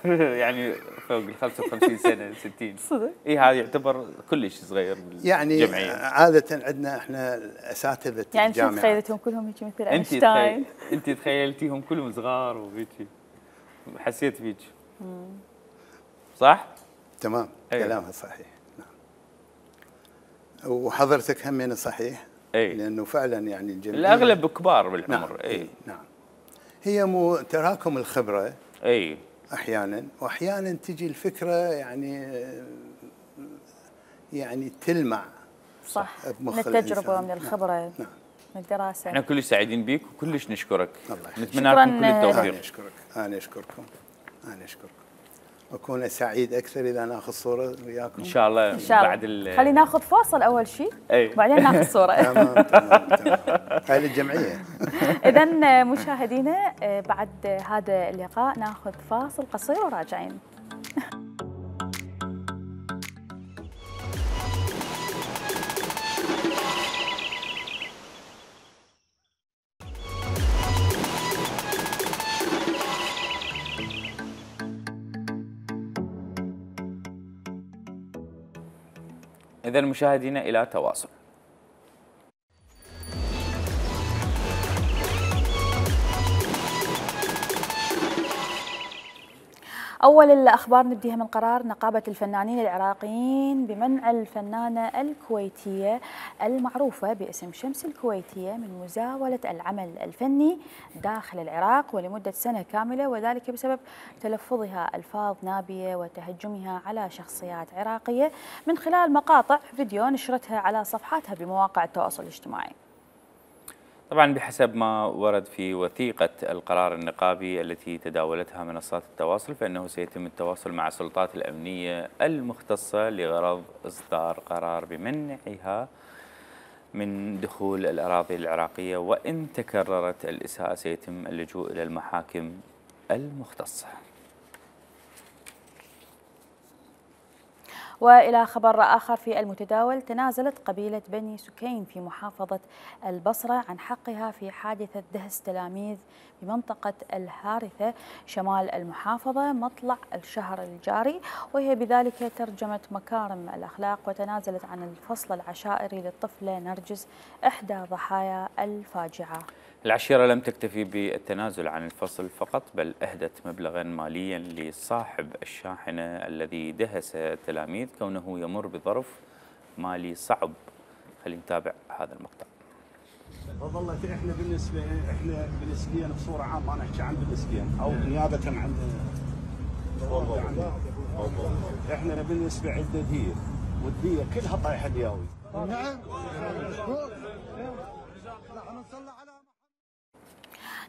S1: يعني فوق ال 55 سنه 60
S2: صدق؟
S1: اي هذا يعتبر كلش صغير
S4: يعني
S1: بالجمعيه.
S4: عاده عندنا احنا اساتذه
S2: يعني انت
S4: الجامعات.
S2: تخيلتهم كلهم هيك مثل
S1: انت
S2: اينشتاين؟
S1: انت تخيلتيهم كلهم صغار وهيك، حسيت بيك صح؟
S4: تمام،
S1: أيوة.
S4: كلامها صحيح. نعم. وحضرتك همين صحيح.
S1: اي
S4: لانه فعلا يعني الجمعيه
S1: الاغلب كبار بالعمر.
S4: نعم.
S1: اي
S4: نعم. هي تراكم الخبره
S1: اي
S4: احيانا، واحيانا تجي الفكره يعني تلمع
S2: صح، من
S4: بمخ
S2: التجربه
S4: الإنسان.
S2: ومن الخبره.
S4: نعم.
S2: من الدراسه.
S1: احنا كلش سعيدين بيك وكلش نشكرك.
S4: الله يخليك.
S1: نتمنى لكم كل
S2: شكراً.
S1: التوفيق.
S4: انا اشكركم. واكون سعيد اكثر اذا ناخذ صوره وياكم.
S1: ان شاء الله.
S2: ان شاء
S1: بعد
S2: الله. خلينا ناخذ فاصل اول شيء،
S1: اي
S2: وبعدين ناخذ صوره.
S4: تمام. هاي للجمعيه.
S2: اذا مشاهدينا بعد هذا اللقاء ناخذ فاصل قصير وراجعين.
S1: إذا مشاهدينا إلى تواصل.
S2: أول الأخبار نبديها من قرار نقابة الفنانين العراقيين بمنع الفنانة الكويتية المعروفة باسم شمس الكويتية من مزاولة العمل الفني داخل العراق ولمدة سنة كاملة، وذلك بسبب تلفظها ألفاظ نابية وتهجمها على شخصيات عراقية من خلال مقاطع فيديو نشرتها على صفحاتها بمواقع التواصل الاجتماعي.
S1: طبعا بحسب ما ورد في وثيقة القرار النقابي التي تداولتها منصات التواصل، فإنه سيتم التواصل مع السلطات الأمنية المختصة لغرض إصدار قرار بمنعها من دخول الأراضي العراقية، وإن تكررت الإساءة سيتم اللجوء إلى المحاكم المختصة.
S2: وإلى خبر آخر في المتداول، تنازلت قبيلة بني سكين في محافظة البصرة عن حقها في حادثة دهس تلاميذ بمنطقة الهارثة شمال المحافظة مطلع الشهر الجاري، وهي بذلك ترجمت مكارم الأخلاق وتنازلت عن الفصل العشائري للطفلة نرجس إحدى ضحايا الفاجعة.
S1: العشيرة لم تكتفي بالتنازل عن الفصل فقط، بل أهدت مبلغا ماليا لصاحب الشاحنة الذي دهس التلاميذ كونه يمر بظرف مالي صعب. خلينا نتابع هذا المقطع.
S5: والله احنا بالنسبيا بصوره عامه، انا احكي عن بالنسبيا او نيابه عن احنا بالنسبه عندنا دير، والديه كلها طايحه دياوي.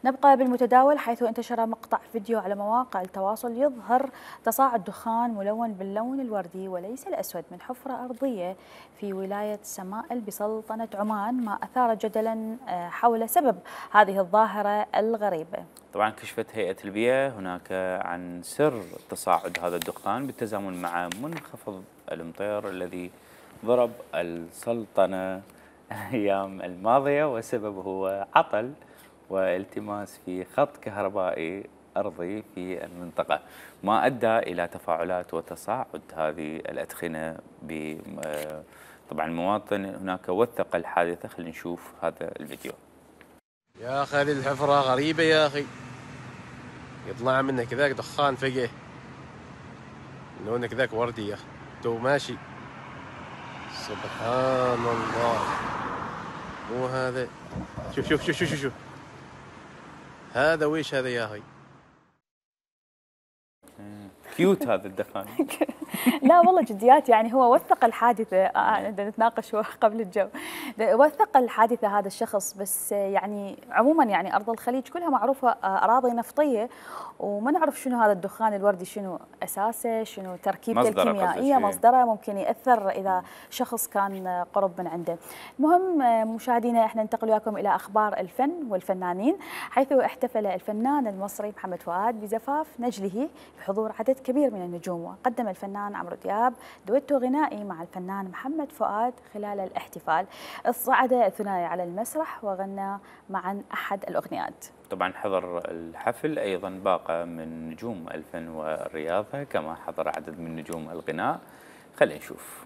S2: نبقى بالمتداول، حيث انتشر مقطع فيديو على مواقع التواصل يظهر تصاعد دخان ملون باللون الوردي وليس الأسود من حفرة أرضية في ولاية سمائل بسلطنة عمان، ما أثار جدلا حول سبب هذه الظاهرة الغريبة.
S1: طبعا كشفت هيئة البيئة هناك عن سر تصاعد هذا الدخان بالتزامن مع منخفض الأمطار الذي ضرب السلطنة الأيام الماضية، وسببه هو عطل والتماس في خط كهربائي أرضي في المنطقة، ما أدى إلى تفاعلات وتصاعد هذه الأدخنة. طبعا المواطن هناك وثق الحادثة. خلينا نشوف هذا الفيديو.
S6: يا أخي هذه الحفرة غريبة يا أخي، يطلع منها كذاك دخان فجأة، لونه كذاك وردي يا أخي تو ماشي. سبحان الله، مو هذا. شوف شوف شوف شوف شوف هذا ويش هذا يا أخي؟
S1: كيوت هذا الدخان.
S2: لا والله جديات، يعني هو وثق الحادثة. نتناقش قبل الجو. وثق الحادثة هذا الشخص، بس يعني عموما يعني أرض الخليج كلها معروفة أراضي نفطية، وما نعرف شنو هذا الدخان الوردي، شنو أساسه، شنو تركيبته الكيميائية، مصدره ممكن يأثر إذا شخص كان قرب من عنده. المهم مشاهدينا، احنا ننتقل وياكم إلى أخبار الفن والفنانين، حيث احتفل الفنان المصري محمد فؤاد بزفاف نجله بحضور عدد كبير من النجوم، وقدم الفنان عمرو دياب دويتو غنائي مع الفنان محمد فؤاد. خلال الاحتفال صعد الثنائي على المسرح وغنى معا أحد الأغنيات.
S1: طبعا حضر الحفل أيضا باقة من نجوم الفن والرياضة، كما حضر عدد من نجوم الغناء. خلينا نشوف.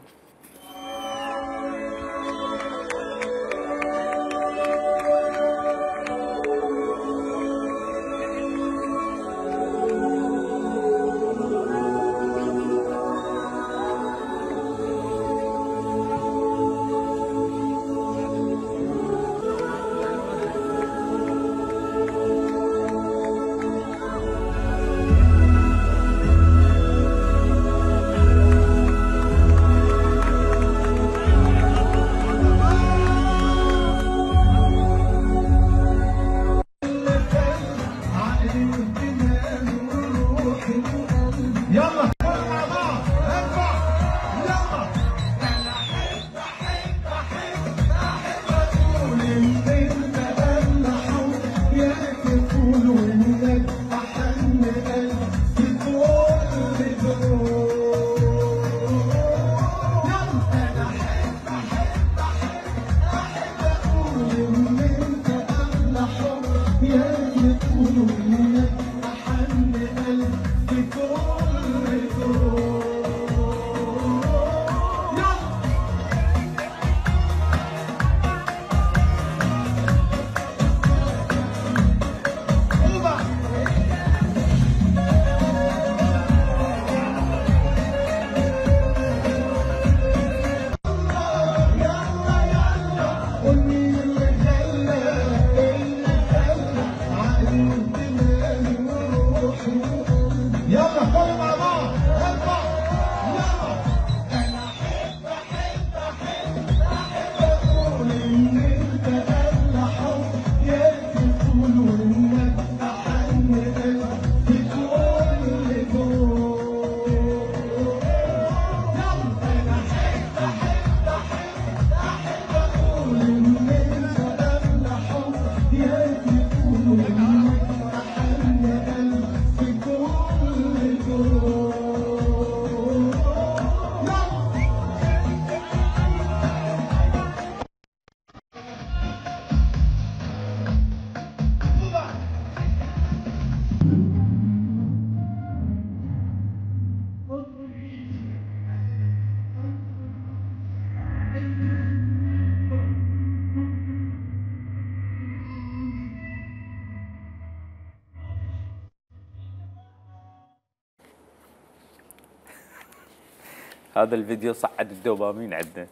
S1: هذا الفيديو صعد الدوبامين عندنا.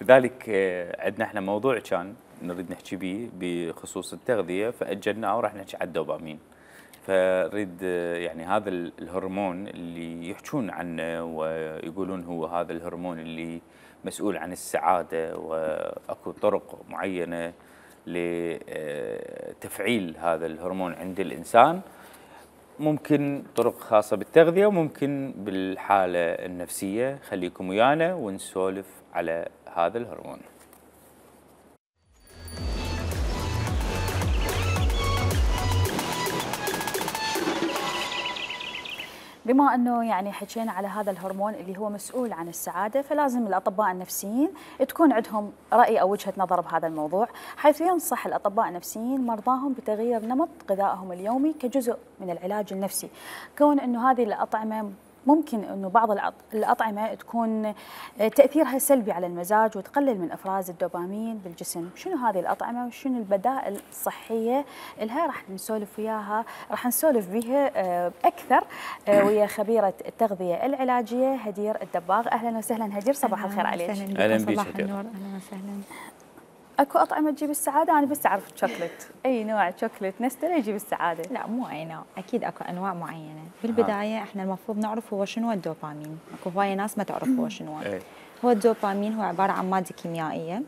S1: لذلك عندنا احنا موضوع كان نريد نحكي به بخصوص التغذية، فأجلناه وراح نحكي على الدوبامين. فريد يعني هذا الهرمون اللي يحكون عنه ويقولون هو هذا الهرمون اللي مسؤول عن السعادة، وأكو طرق معينة لتفعيل هذا الهرمون عند الإنسان، ممكن طرق خاصة بالتغذية وممكن بالحالة النفسية. خليكم ويانا ونسولف على هذا الهرمون.
S2: بما أنه يعني حكينا على هذا الهرمون اللي هو مسؤول عن السعادة، فلازم الأطباء النفسيين تكون عندهم رأي أو وجهة نظر بهذا الموضوع، حيث ينصح الأطباء النفسيين مرضاهم بتغيير نمط غذائهم اليومي كجزء من العلاج النفسي، كون أنه هذه الأطعمة ممكن أنه بعض الأطعمة تكون تأثيرها سلبي على المزاج وتقلل من إفراز الدوبامين بالجسم. شنو هذه الأطعمة وشنو البدائل الصحية لها؟ راح نسولف وياها، راح نسولف بها أكثر ويا خبيرة التغذية العلاجية هدير الدباغ. أهلا وسهلا هدير، صباح الخير عليك.
S1: أهلا بك.
S7: صباح النور، أهلا وسهلا.
S2: اكو اطعمه تجيب السعاده؟ انا بس اعرف شوكليت، اي نوع شوكليت نستله يجيب السعاده؟
S7: لا مو اي نوع، اكيد اكو انواع معينه. بالبدايه احنا المفروض نعرف هو شنو الدوبامين، اكو هوايه ناس ما تعرف هو شنو. هو الدوبامين هو عباره عن ماده كيميائيه،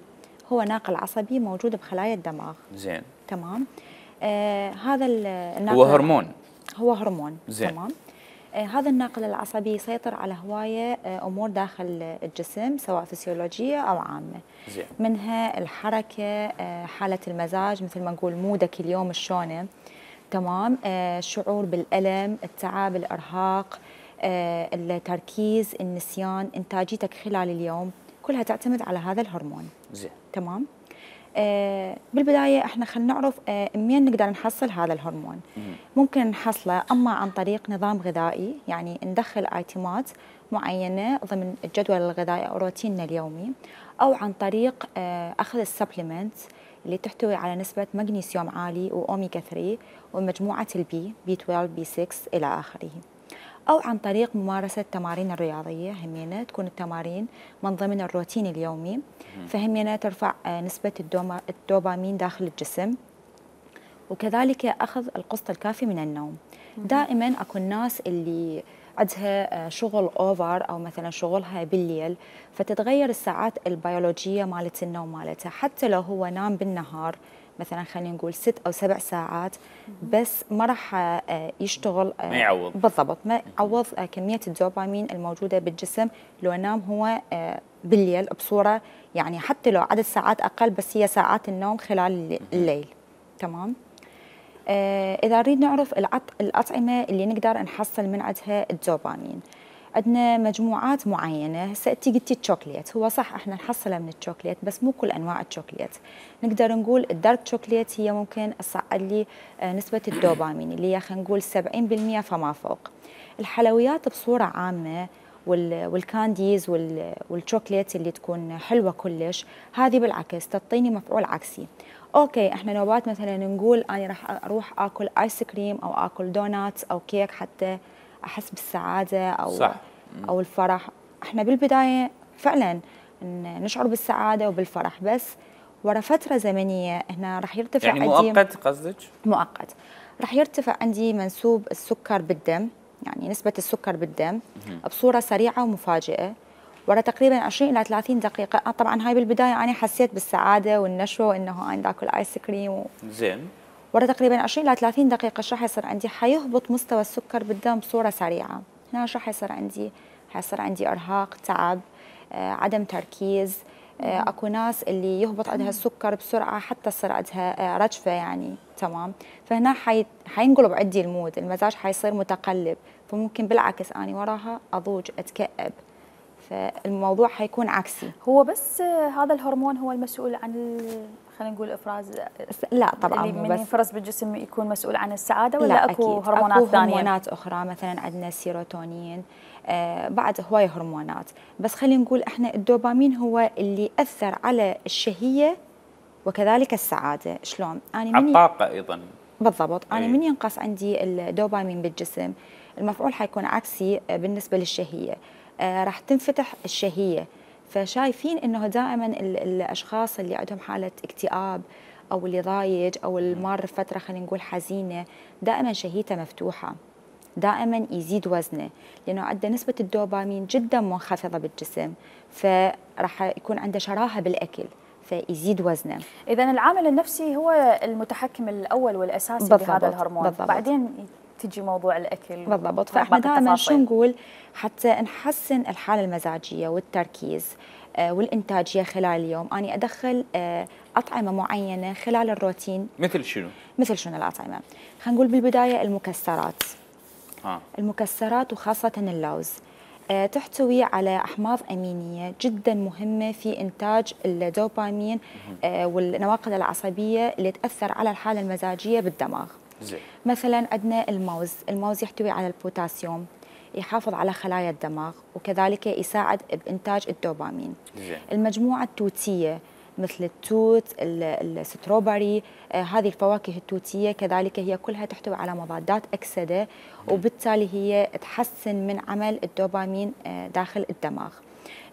S7: هو ناقل عصبي موجود بخلايا الدماغ.
S1: زين.
S7: تمام. هذا الناقل
S1: هو هرمون.
S7: هو هرمون.
S1: زين.
S7: تمام. هذا الناقل العصبي يسيطر على هواية أمور داخل الجسم سواء فسيولوجية أو عامة.
S1: زين.
S7: منها الحركة، حالة المزاج مثل ما نقول مودك اليوم شلونه. تمام. الشعور بالألم، التعب، الإرهاق، التركيز، النسيان، إنتاجيتك خلال اليوم، كلها تعتمد على هذا الهرمون.
S1: زين.
S7: تمام. بالبداية احنا خلينا نعرف منين نقدر نحصل هذا الهرمون. ممكن نحصله اما عن طريق نظام غذائي، يعني ندخل ايتمات معينة ضمن الجدول الغذائي او روتيننا اليومي، او عن طريق اخذ السبلمنت اللي تحتوي على نسبة مغنيسيوم عالي واوميجا 3 ومجموعة البي بي 12 بي 6 الى اخره، أو عن طريق ممارسة التمارين الرياضية. همينة تكون التمارين من ضمن الروتين اليومي، فهمينة ترفع نسبة الدوبامين داخل الجسم، وكذلك أخذ القسط الكافي من النوم. دائما أكو الناس اللي عندها شغل أوفر أو مثلا شغلها بالليل، فتتغير الساعات البيولوجية مالت النوم مالتها، حتى لو هو نام بالنهار مثلا خلينا نقول 6 أو 7 ساعات، بس ما راح يشتغل
S1: ما يعوض
S7: بالضبط، ما يعوض كمية الدوبامين الموجودة بالجسم لو نام هو بالليل بصورة يعني حتى لو عدد ساعات أقل، بس هي ساعات النوم خلال الليل. تمام. إذا نريد نعرف الأطعمة اللي نقدر نحصل من عندها الدوبامين، عندنا مجموعات معينة. هسه انتي قلتي الشوكليت، هو صح احنا نحصله من الشوكليت بس مو كل انواع الشوكليت. نقدر نقول الدارك شوكليت هي ممكن تصعد لي نسبة الدوبامين اللي هي خلينا نقول 70% فما فوق. الحلويات بصورة عامة والكانديز والشوكليت اللي تكون حلوة كلش، هذه بالعكس تعطيني مفعول عكسي. اوكي احنا نوبات مثلا نقول انا راح اروح اكل ايس كريم او اكل دونات او كيك حتى احس بالسعاده او الفرح. احنا بالبدايه فعلا نشعر بالسعاده وبالفرح، بس ورا فتره زمنيه هنا راح يرتفع
S1: يعني
S7: عندي
S1: مؤقت قصدك؟
S7: مؤقت. راح يرتفع عندي منسوب السكر بالدم، يعني نسبه السكر بالدم بصوره سريعه ومفاجئه ورا تقريبا 20 الى 30 دقيقه. طبعا هاي بالبدايه انا حسيت بالسعاده والنشوه وانه انا باكل ايس كريم
S1: زين.
S7: ورا تقريبا 20 الى 30 دقيقه ايش راح يصير عندي؟ حيهبط مستوى السكر بالدم بصوره سريعه. هنا ايش راح يصير عندي؟ حيصير عندي ارهاق، تعب، عدم تركيز. اكو ناس اللي يهبط عندها السكر بسرعه حتى تصير عندها رجفه يعني. تمام. فهنا حينقلب عندي المود، المزاج حيصير متقلب، فممكن بالعكس اني وراها اضوج اتكئب، فالموضوع حيكون عكسي.
S2: هو بس هذا الهرمون هو المسؤول عن خلينا نقول افراز؟
S7: لا طبعا
S2: اللي من ينفرز بالجسم يكون مسؤول عن السعاده، ولا اكو
S7: أكيد.
S2: هرمونات
S7: أكو
S2: ثانيه؟
S7: هرمونات اخرى، مثلا عندنا السيروتونين، بعد هوايه هرمونات، بس خلينا نقول احنا الدوبامين هو اللي اثر على الشهيه وكذلك السعاده. شلون؟ انا
S1: على الطاقه ايضا.
S7: بالضبط. انا من ينقص عندي الدوبامين بالجسم، المفعول حيكون عكسي بالنسبه للشهيه، راح تنفتح الشهيه. فشايفين انه دائما الاشخاص اللي عندهم حاله اكتئاب او اللي ضايج او المار فتره خلينا نقول حزينه، دائما شهيته مفتوحه، دائما يزيد وزنه، لانه عنده نسبه الدوبامين جدا منخفضه بالجسم، فراح يكون عنده شراهه بالاكل فيزيد وزنه.
S2: اذا العامل النفسي هو المتحكم الاول والاساسي بهذا الهرمون. بالضبط. بعدين تجي موضوع الاكل.
S7: بالضبط. فاحنا دائما شو نقول؟ حتى نحسن الحاله المزاجيه والتركيز والانتاجيه خلال اليوم، اني ادخل اطعمه معينه خلال الروتين.
S1: مثل شنو؟
S7: مثل شنو الاطعمه؟ خلينا نقول بالبدايه المكسرات. المكسرات وخاصه اللوز تحتوي على احماض امينيه جدا مهمه في انتاج الدوبامين والنواقل العصبيه اللي تاثر على الحاله المزاجيه بالدماغ.
S1: زي.
S7: مثلا عندنا الموز يحتوي على البوتاسيوم، يحافظ على خلايا الدماغ وكذلك يساعد بإنتاج الدوبامين.
S1: زي.
S7: المجموعة التوتية مثل التوت، الستروبري، هذه الفواكه التوتية كذلك هي كلها تحتوي على مضادات أكسدة، وبالتالي هي تحسن من عمل الدوبامين داخل الدماغ.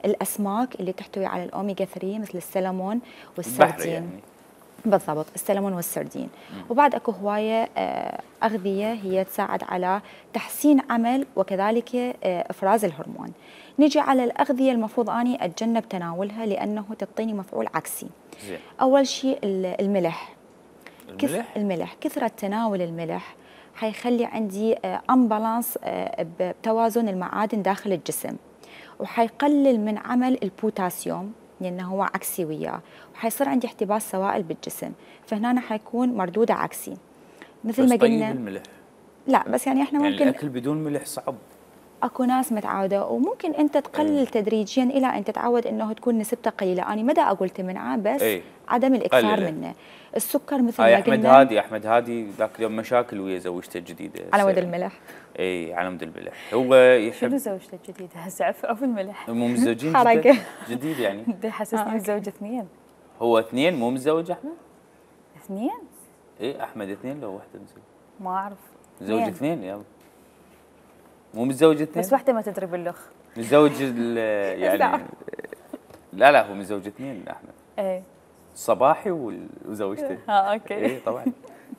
S7: الأسماك اللي تحتوي على الأوميجا 3 مثل السلمون والسردين. يعني. بالضبط، السلمون والسردين. وبعد اكو هوايه اغذيه هي تساعد على تحسين عمل وكذلك افراز الهرمون. نجي على الاغذيه المفروض اني اتجنب تناولها لانه تعطيني مفعول عكسي.
S1: زي.
S7: اول شيء الملح. الملح كثره تناول الملح حيخلي عندي امبالانس بتوازن المعادن داخل الجسم، وحيقلل من عمل البوتاسيوم لأنه هو عكسي وياه، وحيصير عندي احتباس سوائل بالجسم، فهنا حيكون مردوده عكسي. مثل ما قلنا.
S1: طيب الملح؟
S7: لا بس يعني احنا
S1: يعني
S7: ممكن
S1: الأكل بدون ملح صعب.
S7: اكو ناس متعوده، وممكن انت تقلل تدريجيا الى ان تتعود انه تكون نسبته قليله. انا مدى اقول تمنعه، بس عدم الاكثار منه. السكر مثل ما قلنا.
S1: احمد هادي ذاك اليوم مشاكل ويا زوجته الجديده
S7: على مود الملح.
S1: اي على مود الملح. هو يحب
S2: شنو زوجته الجديده؟ هسه او الملح؟
S1: مو متزوجين جديد يعني.
S2: حسسني الزوج اثنين.
S1: هو اثنين مو متزوج احمد؟
S2: اثنين؟
S1: اي احمد اثنين لو واحده متزوج؟
S2: ما اعرف.
S1: متزوج اثنين يابا. مو متزوج اثنين؟
S2: بس واحده ما تدري باللخ.
S1: متزوج يعني لا هو متزوج اثنين احمد.
S2: ايه
S1: صباحي وزوجته.
S2: اوكي.
S1: ايه طبعا.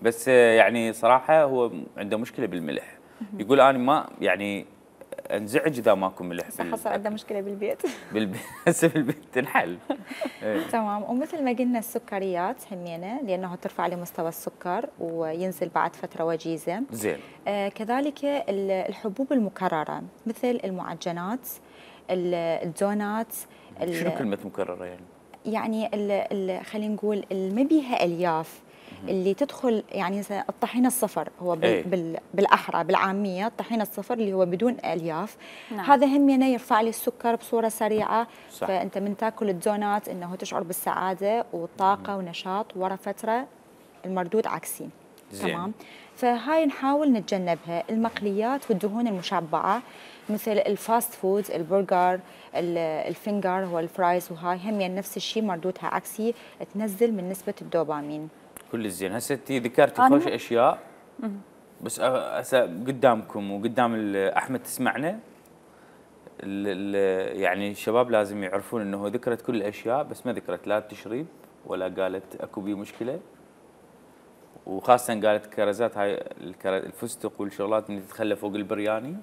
S1: بس يعني صراحه هو عنده مشكله بالملح. يقول انا ما يعني انزعج اذا ماكو ملح.
S7: حصل عنده مشكله بالبيت.
S1: هسه بالبيت تنحل.
S7: تمام. ومثل ما قلنا السكريات همينه، لانه ترفع لي مستوى السكر وينزل بعد فتره وجيزه.
S1: زين.
S7: كذلك الحبوب المكرره مثل المعجنات، الدونات.
S1: شنو كلمه مكرره يعني؟
S7: يعني خلينا نقول ما بيها الياف، اللي تدخل يعني الطحين الصفر هو بالاحرى بالعاميه، الطحين الصفر اللي هو بدون الياف. نعم. هذا همينه يرفع لي السكر بصوره سريعه. صح. فانت من تاكل الدونات انه تشعر بالسعاده والطاقه ونشاط، ورا فتره المردود عكسي. زين. تمام. فهاي نحاول نتجنبها. المقليات والدهون المشبعه مثل الفاست فود، البرجر، الفينجر والفرايز، وهاي هم نفس الشيء مردودها عكسي، تنزل من نسبه الدوبامين.
S1: كل زين. هسه انت ذكرتي خوش اشياء، بس هسه قدامكم وقدام احمد تسمعنا، يعني الشباب لازم يعرفون انه ذكرت كل الاشياء، بس ما ذكرت لا التشريب ولا قالت اكو بيه مشكله، وخاصه قالت كرزات هاي الفستق والشغلات اللي تتخلى فوق البرياني.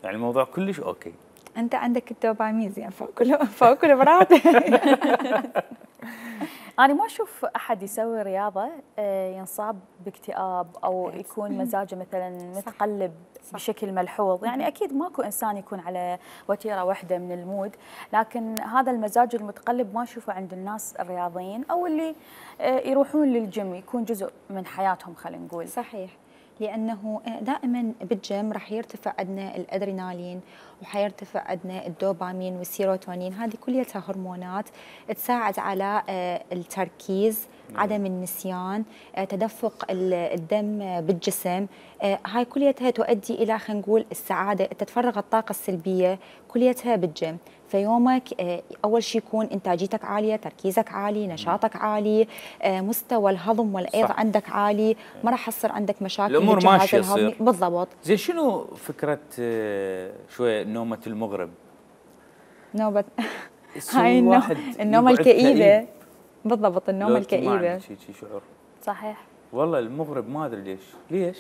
S1: يعني الموضوع كلش اوكي.
S7: انت عندك الدوبامين زين فوق كل براد.
S2: أنا ما أشوف أحد يسوي رياضة ينصاب باكتئاب أو يكون مزاجه مثلا متقلب بشكل ملحوظ. يعني أكيد ماكو إنسان يكون على وتيرة واحدة من المود، لكن هذا المزاج المتقلب ما أشوفه عند الناس الرياضيين أو اللي يروحون للجيم، يكون جزء من حياتهم خلينا نقول.
S7: صحيح. لأنه دائما بالجيم راح يرتفع عندنا الأدرينالين، وحيرتفع عندنا الدوبامين والسيروتونين. هذه كلها هرمونات تساعد على التركيز، عدم النسيان، تدفق الدم بالجسم. هاي كلها تؤدي إلى خلينا نقول السعادة، تتفرغ الطاقة السلبية كلها بالجيم. فيومك أول شيء يكون إنتاجيتك عالية، تركيزك عالي، نشاطك عالي، مستوى الهضم والأيض عندك عالي، ما راح يصير عندك مشاكل
S1: الأمور ماشية تصير.
S7: بالضبط.
S1: زين، شنو فكرة شوية نومة المغرب؟
S7: نوبة هاي النومة الكئيبة. بالضبط، النومة الكئيبة.
S1: شي شعور.
S2: صحيح.
S1: والله المغرب ما أدري ليش؟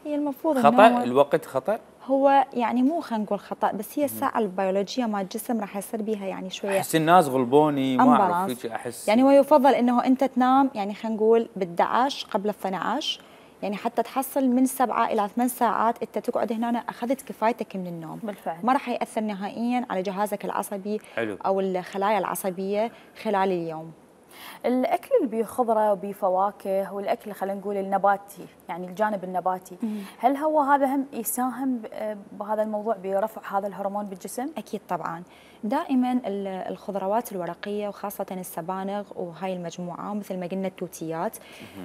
S7: هي المفروض
S1: خطأ الوقت خطأ؟
S7: هو يعني مو خلينا نقول خطأ، بس هي الساعة البيولوجية مال الجسم راح يصير بيها يعني شوية.
S1: أحس الناس غلبوني ما أعرف أحس.
S7: يعني هو يفضل إنه أنت تنام يعني خلينا نقول ب11 قبل 12، يعني حتى تحصل من 7 إلى 8 ساعات أنت تقعد هنا أخذت كفايتك من النوم.
S2: بالفعل.
S7: ما راح يأثر نهائياً على جهازك العصبي. حلو. أو الخلايا العصبية خلال اليوم.
S2: الأكل اللي بيه خضرة وبيه فواكه والأكل خلينا نقول النباتي، يعني الجانب النباتي، هل هو هذا هم يساهم بهذا الموضوع برفع هذا الهرمون بالجسم؟
S7: أكيد طبعاً. دائماً الخضروات الورقية وخاصة السبانغ وهاي المجموعة مثل ما قلنا التوتيات،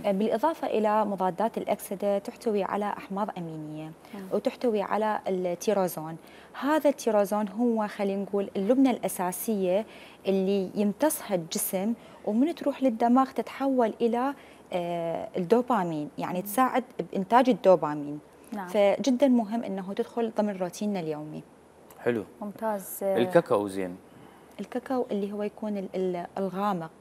S7: بالإضافة إلى مضادات الأكسدة تحتوي على أحماض أمينية وتحتوي على التيروزون. هذا التيروزون هو خلينا نقول اللبنة الأساسية اللي يمتصها الجسم، ومن تروح للدماغ تتحول إلى الدوبامين، يعني تساعد بإنتاج الدوبامين. نعم. فجدا مهم أنه تدخل ضمن روتيننا اليومي.
S1: حلو.
S2: ممتاز.
S1: الكاكاو زين.
S7: الكاكاو اللي هو يكون الغامق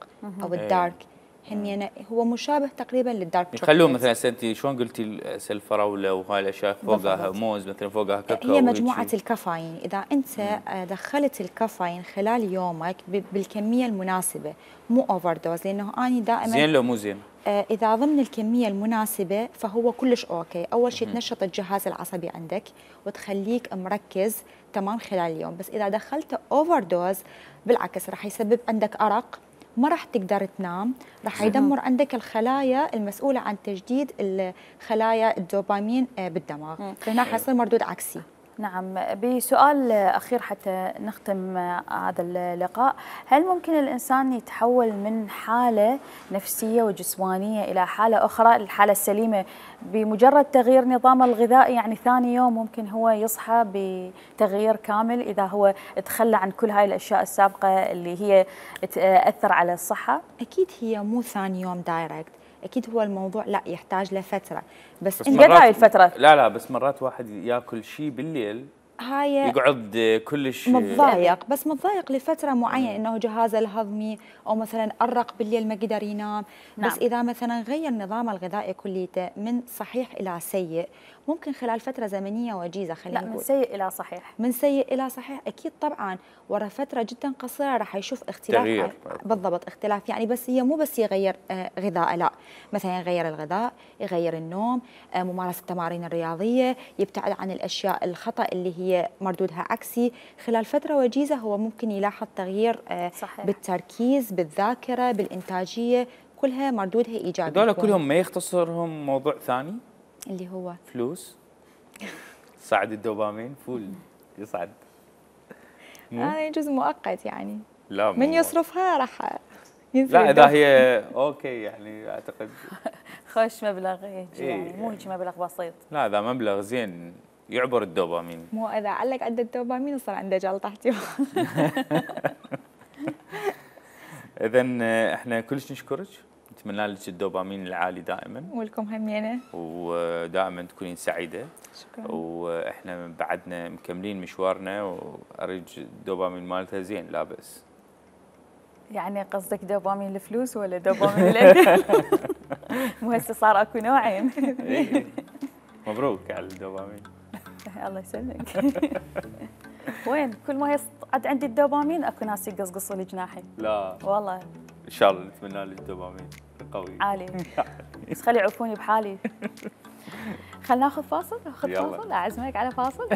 S7: أو الدارك، همينه هو مشابه تقريبا للدارك شوكليت.
S1: يخلوه مثلا انت شلون قلتي الفراوله وهاي الاشياء فوقها موز مثلا فوقها كاكاو.
S7: هي مجموعه الكافيين، اذا انت دخلت الكافيين خلال يومك بالكميه المناسبه، مو اوفر دوز، لانه اني دائما
S1: زين لو مو زين.
S7: اذا ضمن الكميه المناسبه فهو كلش اوكي. اول شيء تنشط الجهاز العصبي عندك وتخليك مركز تمام خلال اليوم، بس اذا دخلت اوفر دوز بالعكس راح يسبب عندك ارق، ما راح تقدر تنام، راح يدمر عندك الخلايا المسؤوله عن تجديد خلايا الدوبامين بالدماغ، فهنا حيصير مردود عكسي.
S2: نعم. بسؤال أخير حتى نختم هذا اللقاء، هل ممكن الإنسان يتحول من حالة نفسية وجسمانية إلى حالة أخرى، الحالة السليمة، بمجرد تغيير نظامه الغذائي؟ يعني ثاني يوم ممكن هو يصحى بتغيير كامل إذا هو تخلى عن كل هاي الأشياء السابقة اللي هي تأثر على الصحة؟
S7: أكيد هي مو ثاني يوم دايركت، اكيد هو الموضوع لا يحتاج له بس
S2: قد هاي الفتره؟
S1: لا بس مرات واحد ياكل شيء بالليل
S7: هاي
S1: يقعد كلش
S7: متضايق، بس متضايق لفتره معينه انه جهازه الهضمي او مثلا ارق بالليل ما قدر ينام.
S2: نعم.
S7: بس اذا مثلا غير نظامه الغذائي كليته من صحيح الى سيء، ممكن خلال فتره زمنيه وجيزه خلينا نقول.
S2: لا، من سيء الى صحيح.
S7: من سيء الى صحيح اكيد طبعا، ورا فتره جدا قصيره راح يشوف اختلاف.
S1: تغيير.
S7: بالضبط، اختلاف يعني. بس هي مو بس يغير غذاء، لا، مثلا يغير الغذاء، يغير النوم، ممارسه التمارين الرياضيه، يبتعد عن الاشياء الخطا اللي هي مردودها عكسي. خلال فتره وجيزه هو ممكن يلاحظ تغيير
S2: صحيح.
S7: بالتركيز، بالذاكره، بالانتاجيه، كلها مردودها ايجابي.
S1: هذول كلهم ما يختصرهم موضوع ثاني
S7: اللي هو
S1: فلوس؟ صعد الدوبامين فول يصعد.
S7: هذا جزء مؤقت يعني.
S1: لا
S7: من يصرفها راح ينزل.
S1: لا اذا هي اوكي يعني اعتقد
S2: خوش مبلغ هيك يعني، مو هيك مبلغ بسيط.
S1: لا اذا مبلغ زين يعبر الدوبامين.
S7: مو اذا علق عنده الدوبامين يصير عنده جلطه احتمال.
S1: اذا احنا كلش نشكرك، نتمنى لك الدوبامين العالي دائما،
S7: ولكم همينه،
S1: ودائما تكونين سعيده.
S7: شكرا.
S1: واحنا بعدنا مكملين مشوارنا، واريد الدوبامين مالتها زين لا بأس.
S2: يعني قصدك دوبامين الفلوس ولا دوبامين الاكل؟ مو هسه صار اكو نوعين.
S1: مبروك على الدوبامين.
S2: الله يسلمك. وين كل ما يصعد عندي الدوبامين اكو ناس يقصقصوا لي جناحي.
S1: لا
S2: والله
S1: ان شاء الله نتمنى لك الدوبامين قوي
S2: عالي، بس خلي يعوفوني بحالي. خلينا ناخذ فاصل، اخذ فاصل، اعزمك على فاصل.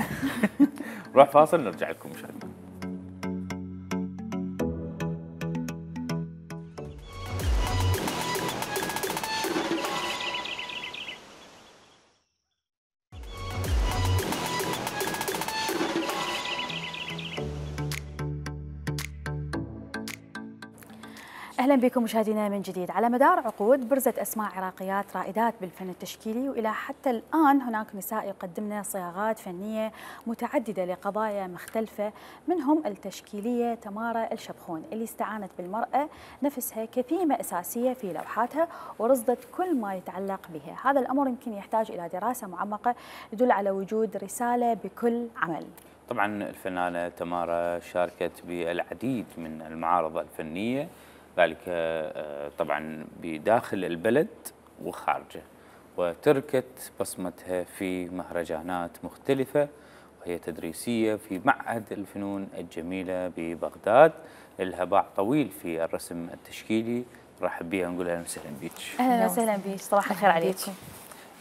S1: نروح فاصل نرجع لكم مشاهدينا.
S2: أهلا بكم مشاهدينا من جديد. على مدار عقود برزت أسماء عراقيات رائدات بالفن التشكيلي، وإلى حتى الآن هناك نساء يقدمن صياغات فنية متعددة لقضايا مختلفة، منهم التشكيلية تمارا الشبخون اللي استعانت بالمرأة نفسها كثيمة أساسية في لوحاتها ورصدت كل ما يتعلق بها. هذا الأمر يمكن يحتاج إلى دراسة معمقة يدل على وجود رسالة بكل عمل.
S1: طبعا الفنانة تمارا شاركت بالعديد من المعارض الفنية، ذلك طبعا بداخل البلد وخارجه، وتركت بصمتها في مهرجانات مختلفة وهي تدريسية في معهد الفنون الجميلة ببغداد. لها باع طويل في الرسم التشكيلي، نرحب بها ونقول اهلا وسهلا بك.
S2: اهلا وسهلا بك، صباح الخير عليكم.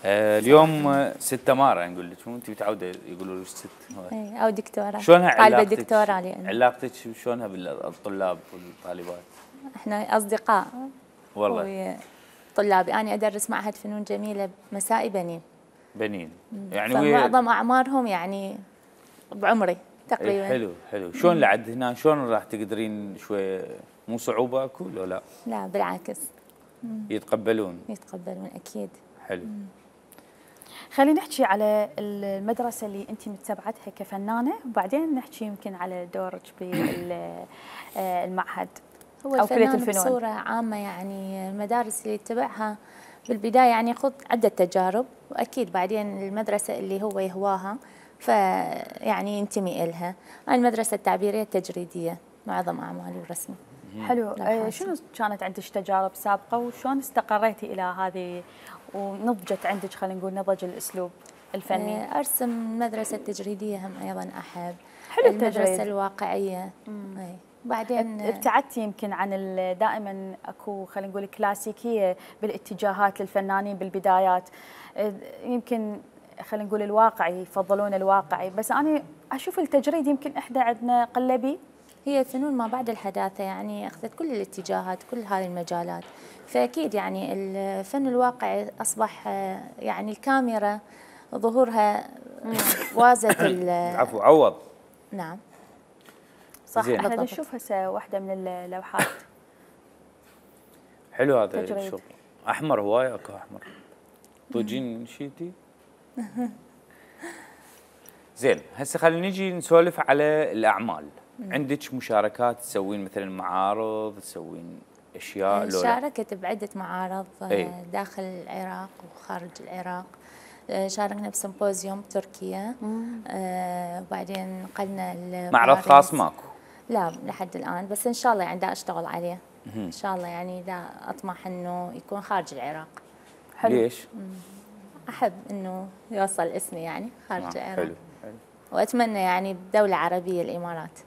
S1: اليوم ست تمارا نقول لك، انت متعوده يقولوا لك ست
S8: او دكتوره.
S1: شلونها
S8: طالبه دكتوره علي.
S1: علاقتك شلونها بالطلاب والطالبات؟
S8: احنا اصدقاء
S1: والله.
S8: طلابي انا ادرس معهد فنون جميله مسائي بنين
S1: يعني
S8: معظم اعمارهم يعني بعمري تقريبا.
S1: حلو. شلون لعد هنا، شلون راح تقدرين شوي، مو صعوبه اكو لو لا؟
S8: لا بالعكس،
S1: يتقبلون
S8: اكيد.
S1: حلو.
S2: خلينا نحكي على المدرسة اللي أنت متبعتها كفنانة، وبعدين نحكي يمكن على دورك بالمعهد
S8: أو كلية الفنون بصورة عامة. يعني المدارس اللي اتبعها بالبداية يعني خذ عدة تجارب، وأكيد بعدين المدرسة اللي هو يهواها فيعني ينتمي إلها. المدرسة التعبيرية التجريدية معظم أعمالي ورسمي.
S2: حلو. شنو كانت عندك تجارب سابقة وشلون استقريتي إلى هذه ونضجت عندك، خلينا نقول نضج الأسلوب الفني؟
S8: أرسم مدرسة تجريدية هم أيضا أحب.
S2: حلو التجريد.
S8: المدرسة الواقعية. بعدين
S2: ابتعدتي يمكن عن دائما اكو خلينا نقول كلاسيكية بالاتجاهات للفنانين بالبدايات، يمكن خلينا نقول الواقعي، يفضلون الواقعي، بس أنا أشوف التجريد يمكن إحدى عندنا قلبي.
S8: هي فنون ما بعد الحداثة، يعني أخذت كل الاتجاهات، كل هذه المجالات. فأكيد يعني الفن الواقعي أصبح يعني الكاميرا ظهورها وازت
S1: عفو عوض.
S8: نعم
S2: صح. احنا نشوف هسه واحدة من اللوحات.
S1: حلو هذا الشغل. أحمر هواية، أكو أحمر. طوجين شيتي. زين، هسه خلينا نجي نسولف على الأعمال. عندك مشاركات تسوين مثلا معارض، تسوين اشياء؟
S8: شاركت بعده معارض داخل العراق وخارج العراق. شاركنا بسيمبوزيوم بتركيا، وبعدين نقلنا
S1: معرض خاص ماكو؟
S8: لا لحد الان، بس ان شاء الله يعني دا اشتغل عليه ان شاء الله، يعني دا اطمح انه يكون خارج العراق.
S1: حلو. ليش؟
S8: احب انه يوصل اسمي يعني خارج العراق.
S1: حلو حلو.
S8: واتمنى يعني بدوله عربيه الامارات.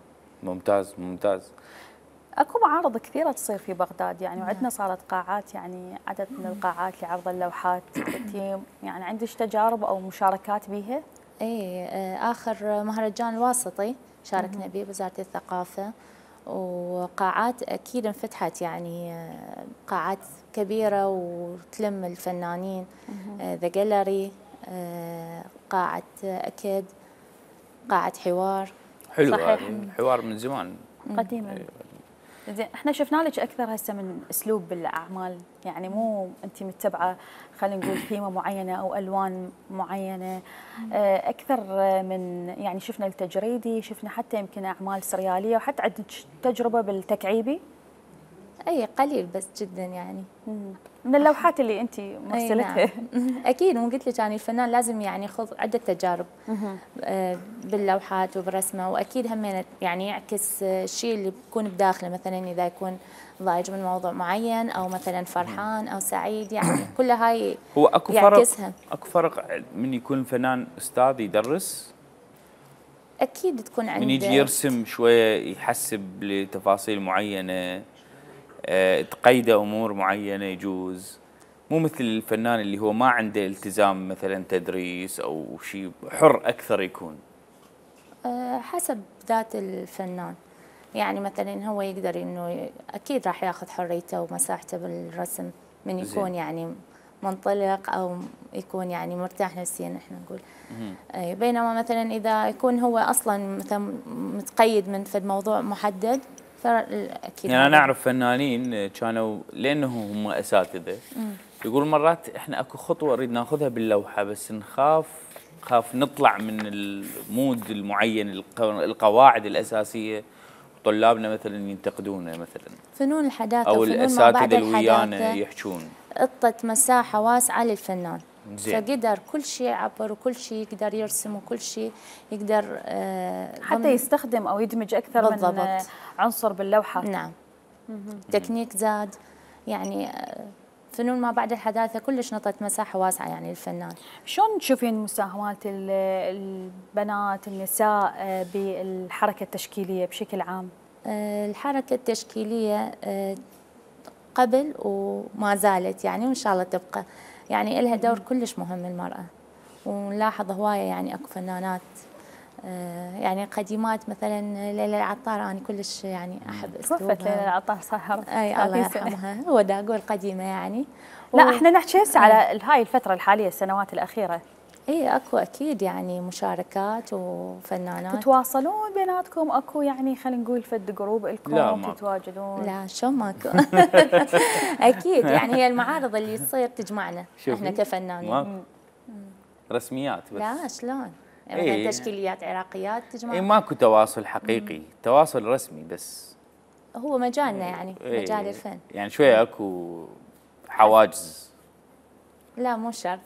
S1: ممتاز ممتاز.
S2: اكو معارض كثيره تصير في بغداد يعني، وعندنا صارت قاعات يعني عدد من القاعات لعرض اللوحات. يعني عندك تجارب او مشاركات بيها؟
S8: اي اخر مهرجان الواسطي شاركنا به بوزاره الثقافه، وقاعات اكيد انفتحت يعني قاعات كبيره وتلم الفنانين. ذا جاليري، قاعه اكيد، قاعه حوار.
S1: حلو. الحوار من زمان
S2: قديما. زين، احنا شفنا لك اكثر هسه من اسلوب بالاعمال، يعني مو انت متبعه خلينا نقول ثيمه معينه او الوان معينه، اكثر من يعني شفنا التجريدي، شفنا حتى يمكن اعمال سرياليه، وحتى عندك تجربه بالتكعيبي؟
S8: اي قليل بس جدا يعني.
S2: من اللوحات اللي انت مرسلتها.
S8: نعم. اكيد، مو قلت لك يعني الفنان لازم يعني يخوض عده تجارب باللوحات وبرسمه، واكيد هم يعني يعكس الشيء اللي بيكون بداخله، مثلا اذا يكون ضايج من موضوع معين او مثلا فرحان او سعيد، يعني كل هاي
S1: هو اكو
S8: يعكسها.
S1: اكو فرق من يكون الفنان استاذ يدرس؟
S8: اكيد تكون عنده،
S1: من يجي يرسم شويه يحسب لتفاصيل معينه، تقيده امور معينه يجوز، مو مثل الفنان اللي هو ما عنده التزام مثلا تدريس او شيء، حر اكثر يكون.
S8: حسب ذات الفنان، يعني مثلا هو يقدر انه اكيد راح ياخذ حريته ومساحته بالرسم من يكون زين. يعني منطلق او يكون يعني مرتاح نفسيا احنا نقول. بينما مثلا اذا يكون هو اصلا مثلا متقيد من فد موضوع محدد، فاكيد
S1: يعني انا اعرف فنانين كانوا لانه هم اساتذه يقولوا مرات احنا اكو خطوه نريد ناخذها باللوحه بس نخاف نطلع من المود المعين، القواعد الاساسيه، طلابنا مثلا ينتقدونه مثلا.
S8: فنون الحداثه
S1: او الاساتذه اللي ويانا يحجون
S8: اعطت مساحه واسعه للفنان.
S1: زين.
S8: فقدر كل شيء يعبر وكل شيء يقدر يرسم وكل شيء يقدر
S2: حتى يستخدم او يدمج اكثر
S8: بالضبط.
S2: من عنصر باللوحه.
S8: نعم. تكنيك زاد، يعني فنون ما بعد الحداثه كلش نطت مساحه واسعه يعني للفنان.
S2: شلون تشوفين مساهمات البنات النساء بالحركه التشكيليه بشكل عام؟
S8: الحركه التشكيليه قبل وما زالت يعني، وان شاء الله تبقى يعني لها دور كلش مهم المراه. ونلاحظ هوايه يعني اكو فنانات يعني قديمات، مثلا ليلى العطار، انا كلش يعني احب اسلوبها.
S2: توفت ليلى العطار صار
S8: اي الله يرحمها، هو دا اقول قديمه يعني.
S2: لا احنا نحكي هسه على هاي الفتره الحاليه، السنوات الاخيره.
S8: اي اكو اكيد يعني مشاركات وفنانات.
S2: تتواصلون بيناتكم؟ اكو يعني خلينا نقول فد جروب لكم تتواجدون؟
S8: لا شو ماكو. اكيد يعني هي المعارض اللي تصير تجمعنا احنا كفنانين.
S1: رسميات بس؟
S8: لا شلون يعني تشكيليات عراقيات تجمع.
S1: ماكو تواصل حقيقي، تواصل رسمي بس.
S8: هو مجالنا يعني مجال الفن
S1: يعني شويه اكو حواجز.
S8: لا مو شرط.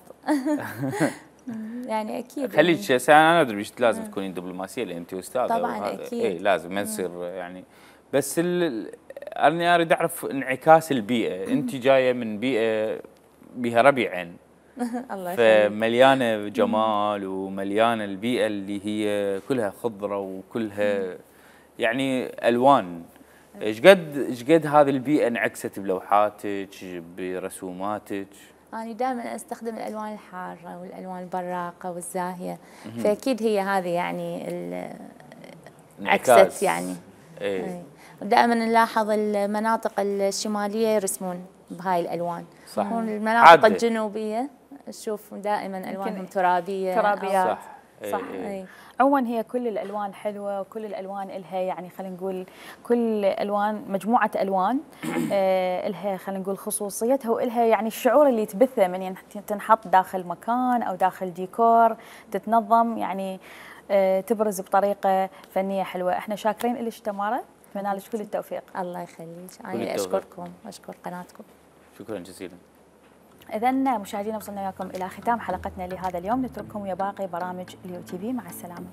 S8: يعني اكيد
S1: خليك انا ادري ايش لازم تكونين دبلوماسيه لان انت استاذه.
S8: طبعا اكيد.
S1: لازم ما تصير يعني، بس انا اريد اعرف انعكاس البيئه. انت جايه من بيئه بها ربيعين.
S8: الله يخليك.
S1: فمليانه جمال ومليانه البيئه اللي هي كلها خضره وكلها يعني الوان. ايش قد هذه البيئه انعكست بلوحاتك برسوماتك؟
S8: أنا دائما أستخدم الألوان الحارة والألوان البراقة والزاهية، فأكيد هي هذه يعني عكست يعني. دائما نلاحظ المناطق الشماليه يرسمون بهاي الالوان.
S1: صح.
S8: المناطق الجنوبيه نشوف دائما الوانهم ترابيه.
S1: صح.
S2: صح. عموما هي كل الالوان حلوه، وكل الالوان الها يعني خلينا نقول كل الوان مجموعه الوان الها خلينا نقول خصوصيتها، والها يعني الشعور اللي تبثه من تنحط داخل مكان او داخل ديكور تتنظم، يعني تبرز بطريقه فنيه حلوه. احنا شاكرين لك تمارا، اتمنى لك كل التوفيق.
S8: الله يخليك، انا اشكركم واشكر قناتكم.
S1: شكرا جزيلا.
S2: إذا مشاهدينا وصلنا وياكم إلى ختام حلقتنا لهذا اليوم، نترككم ويا باقي برامج اليو تي في، مع السلامة.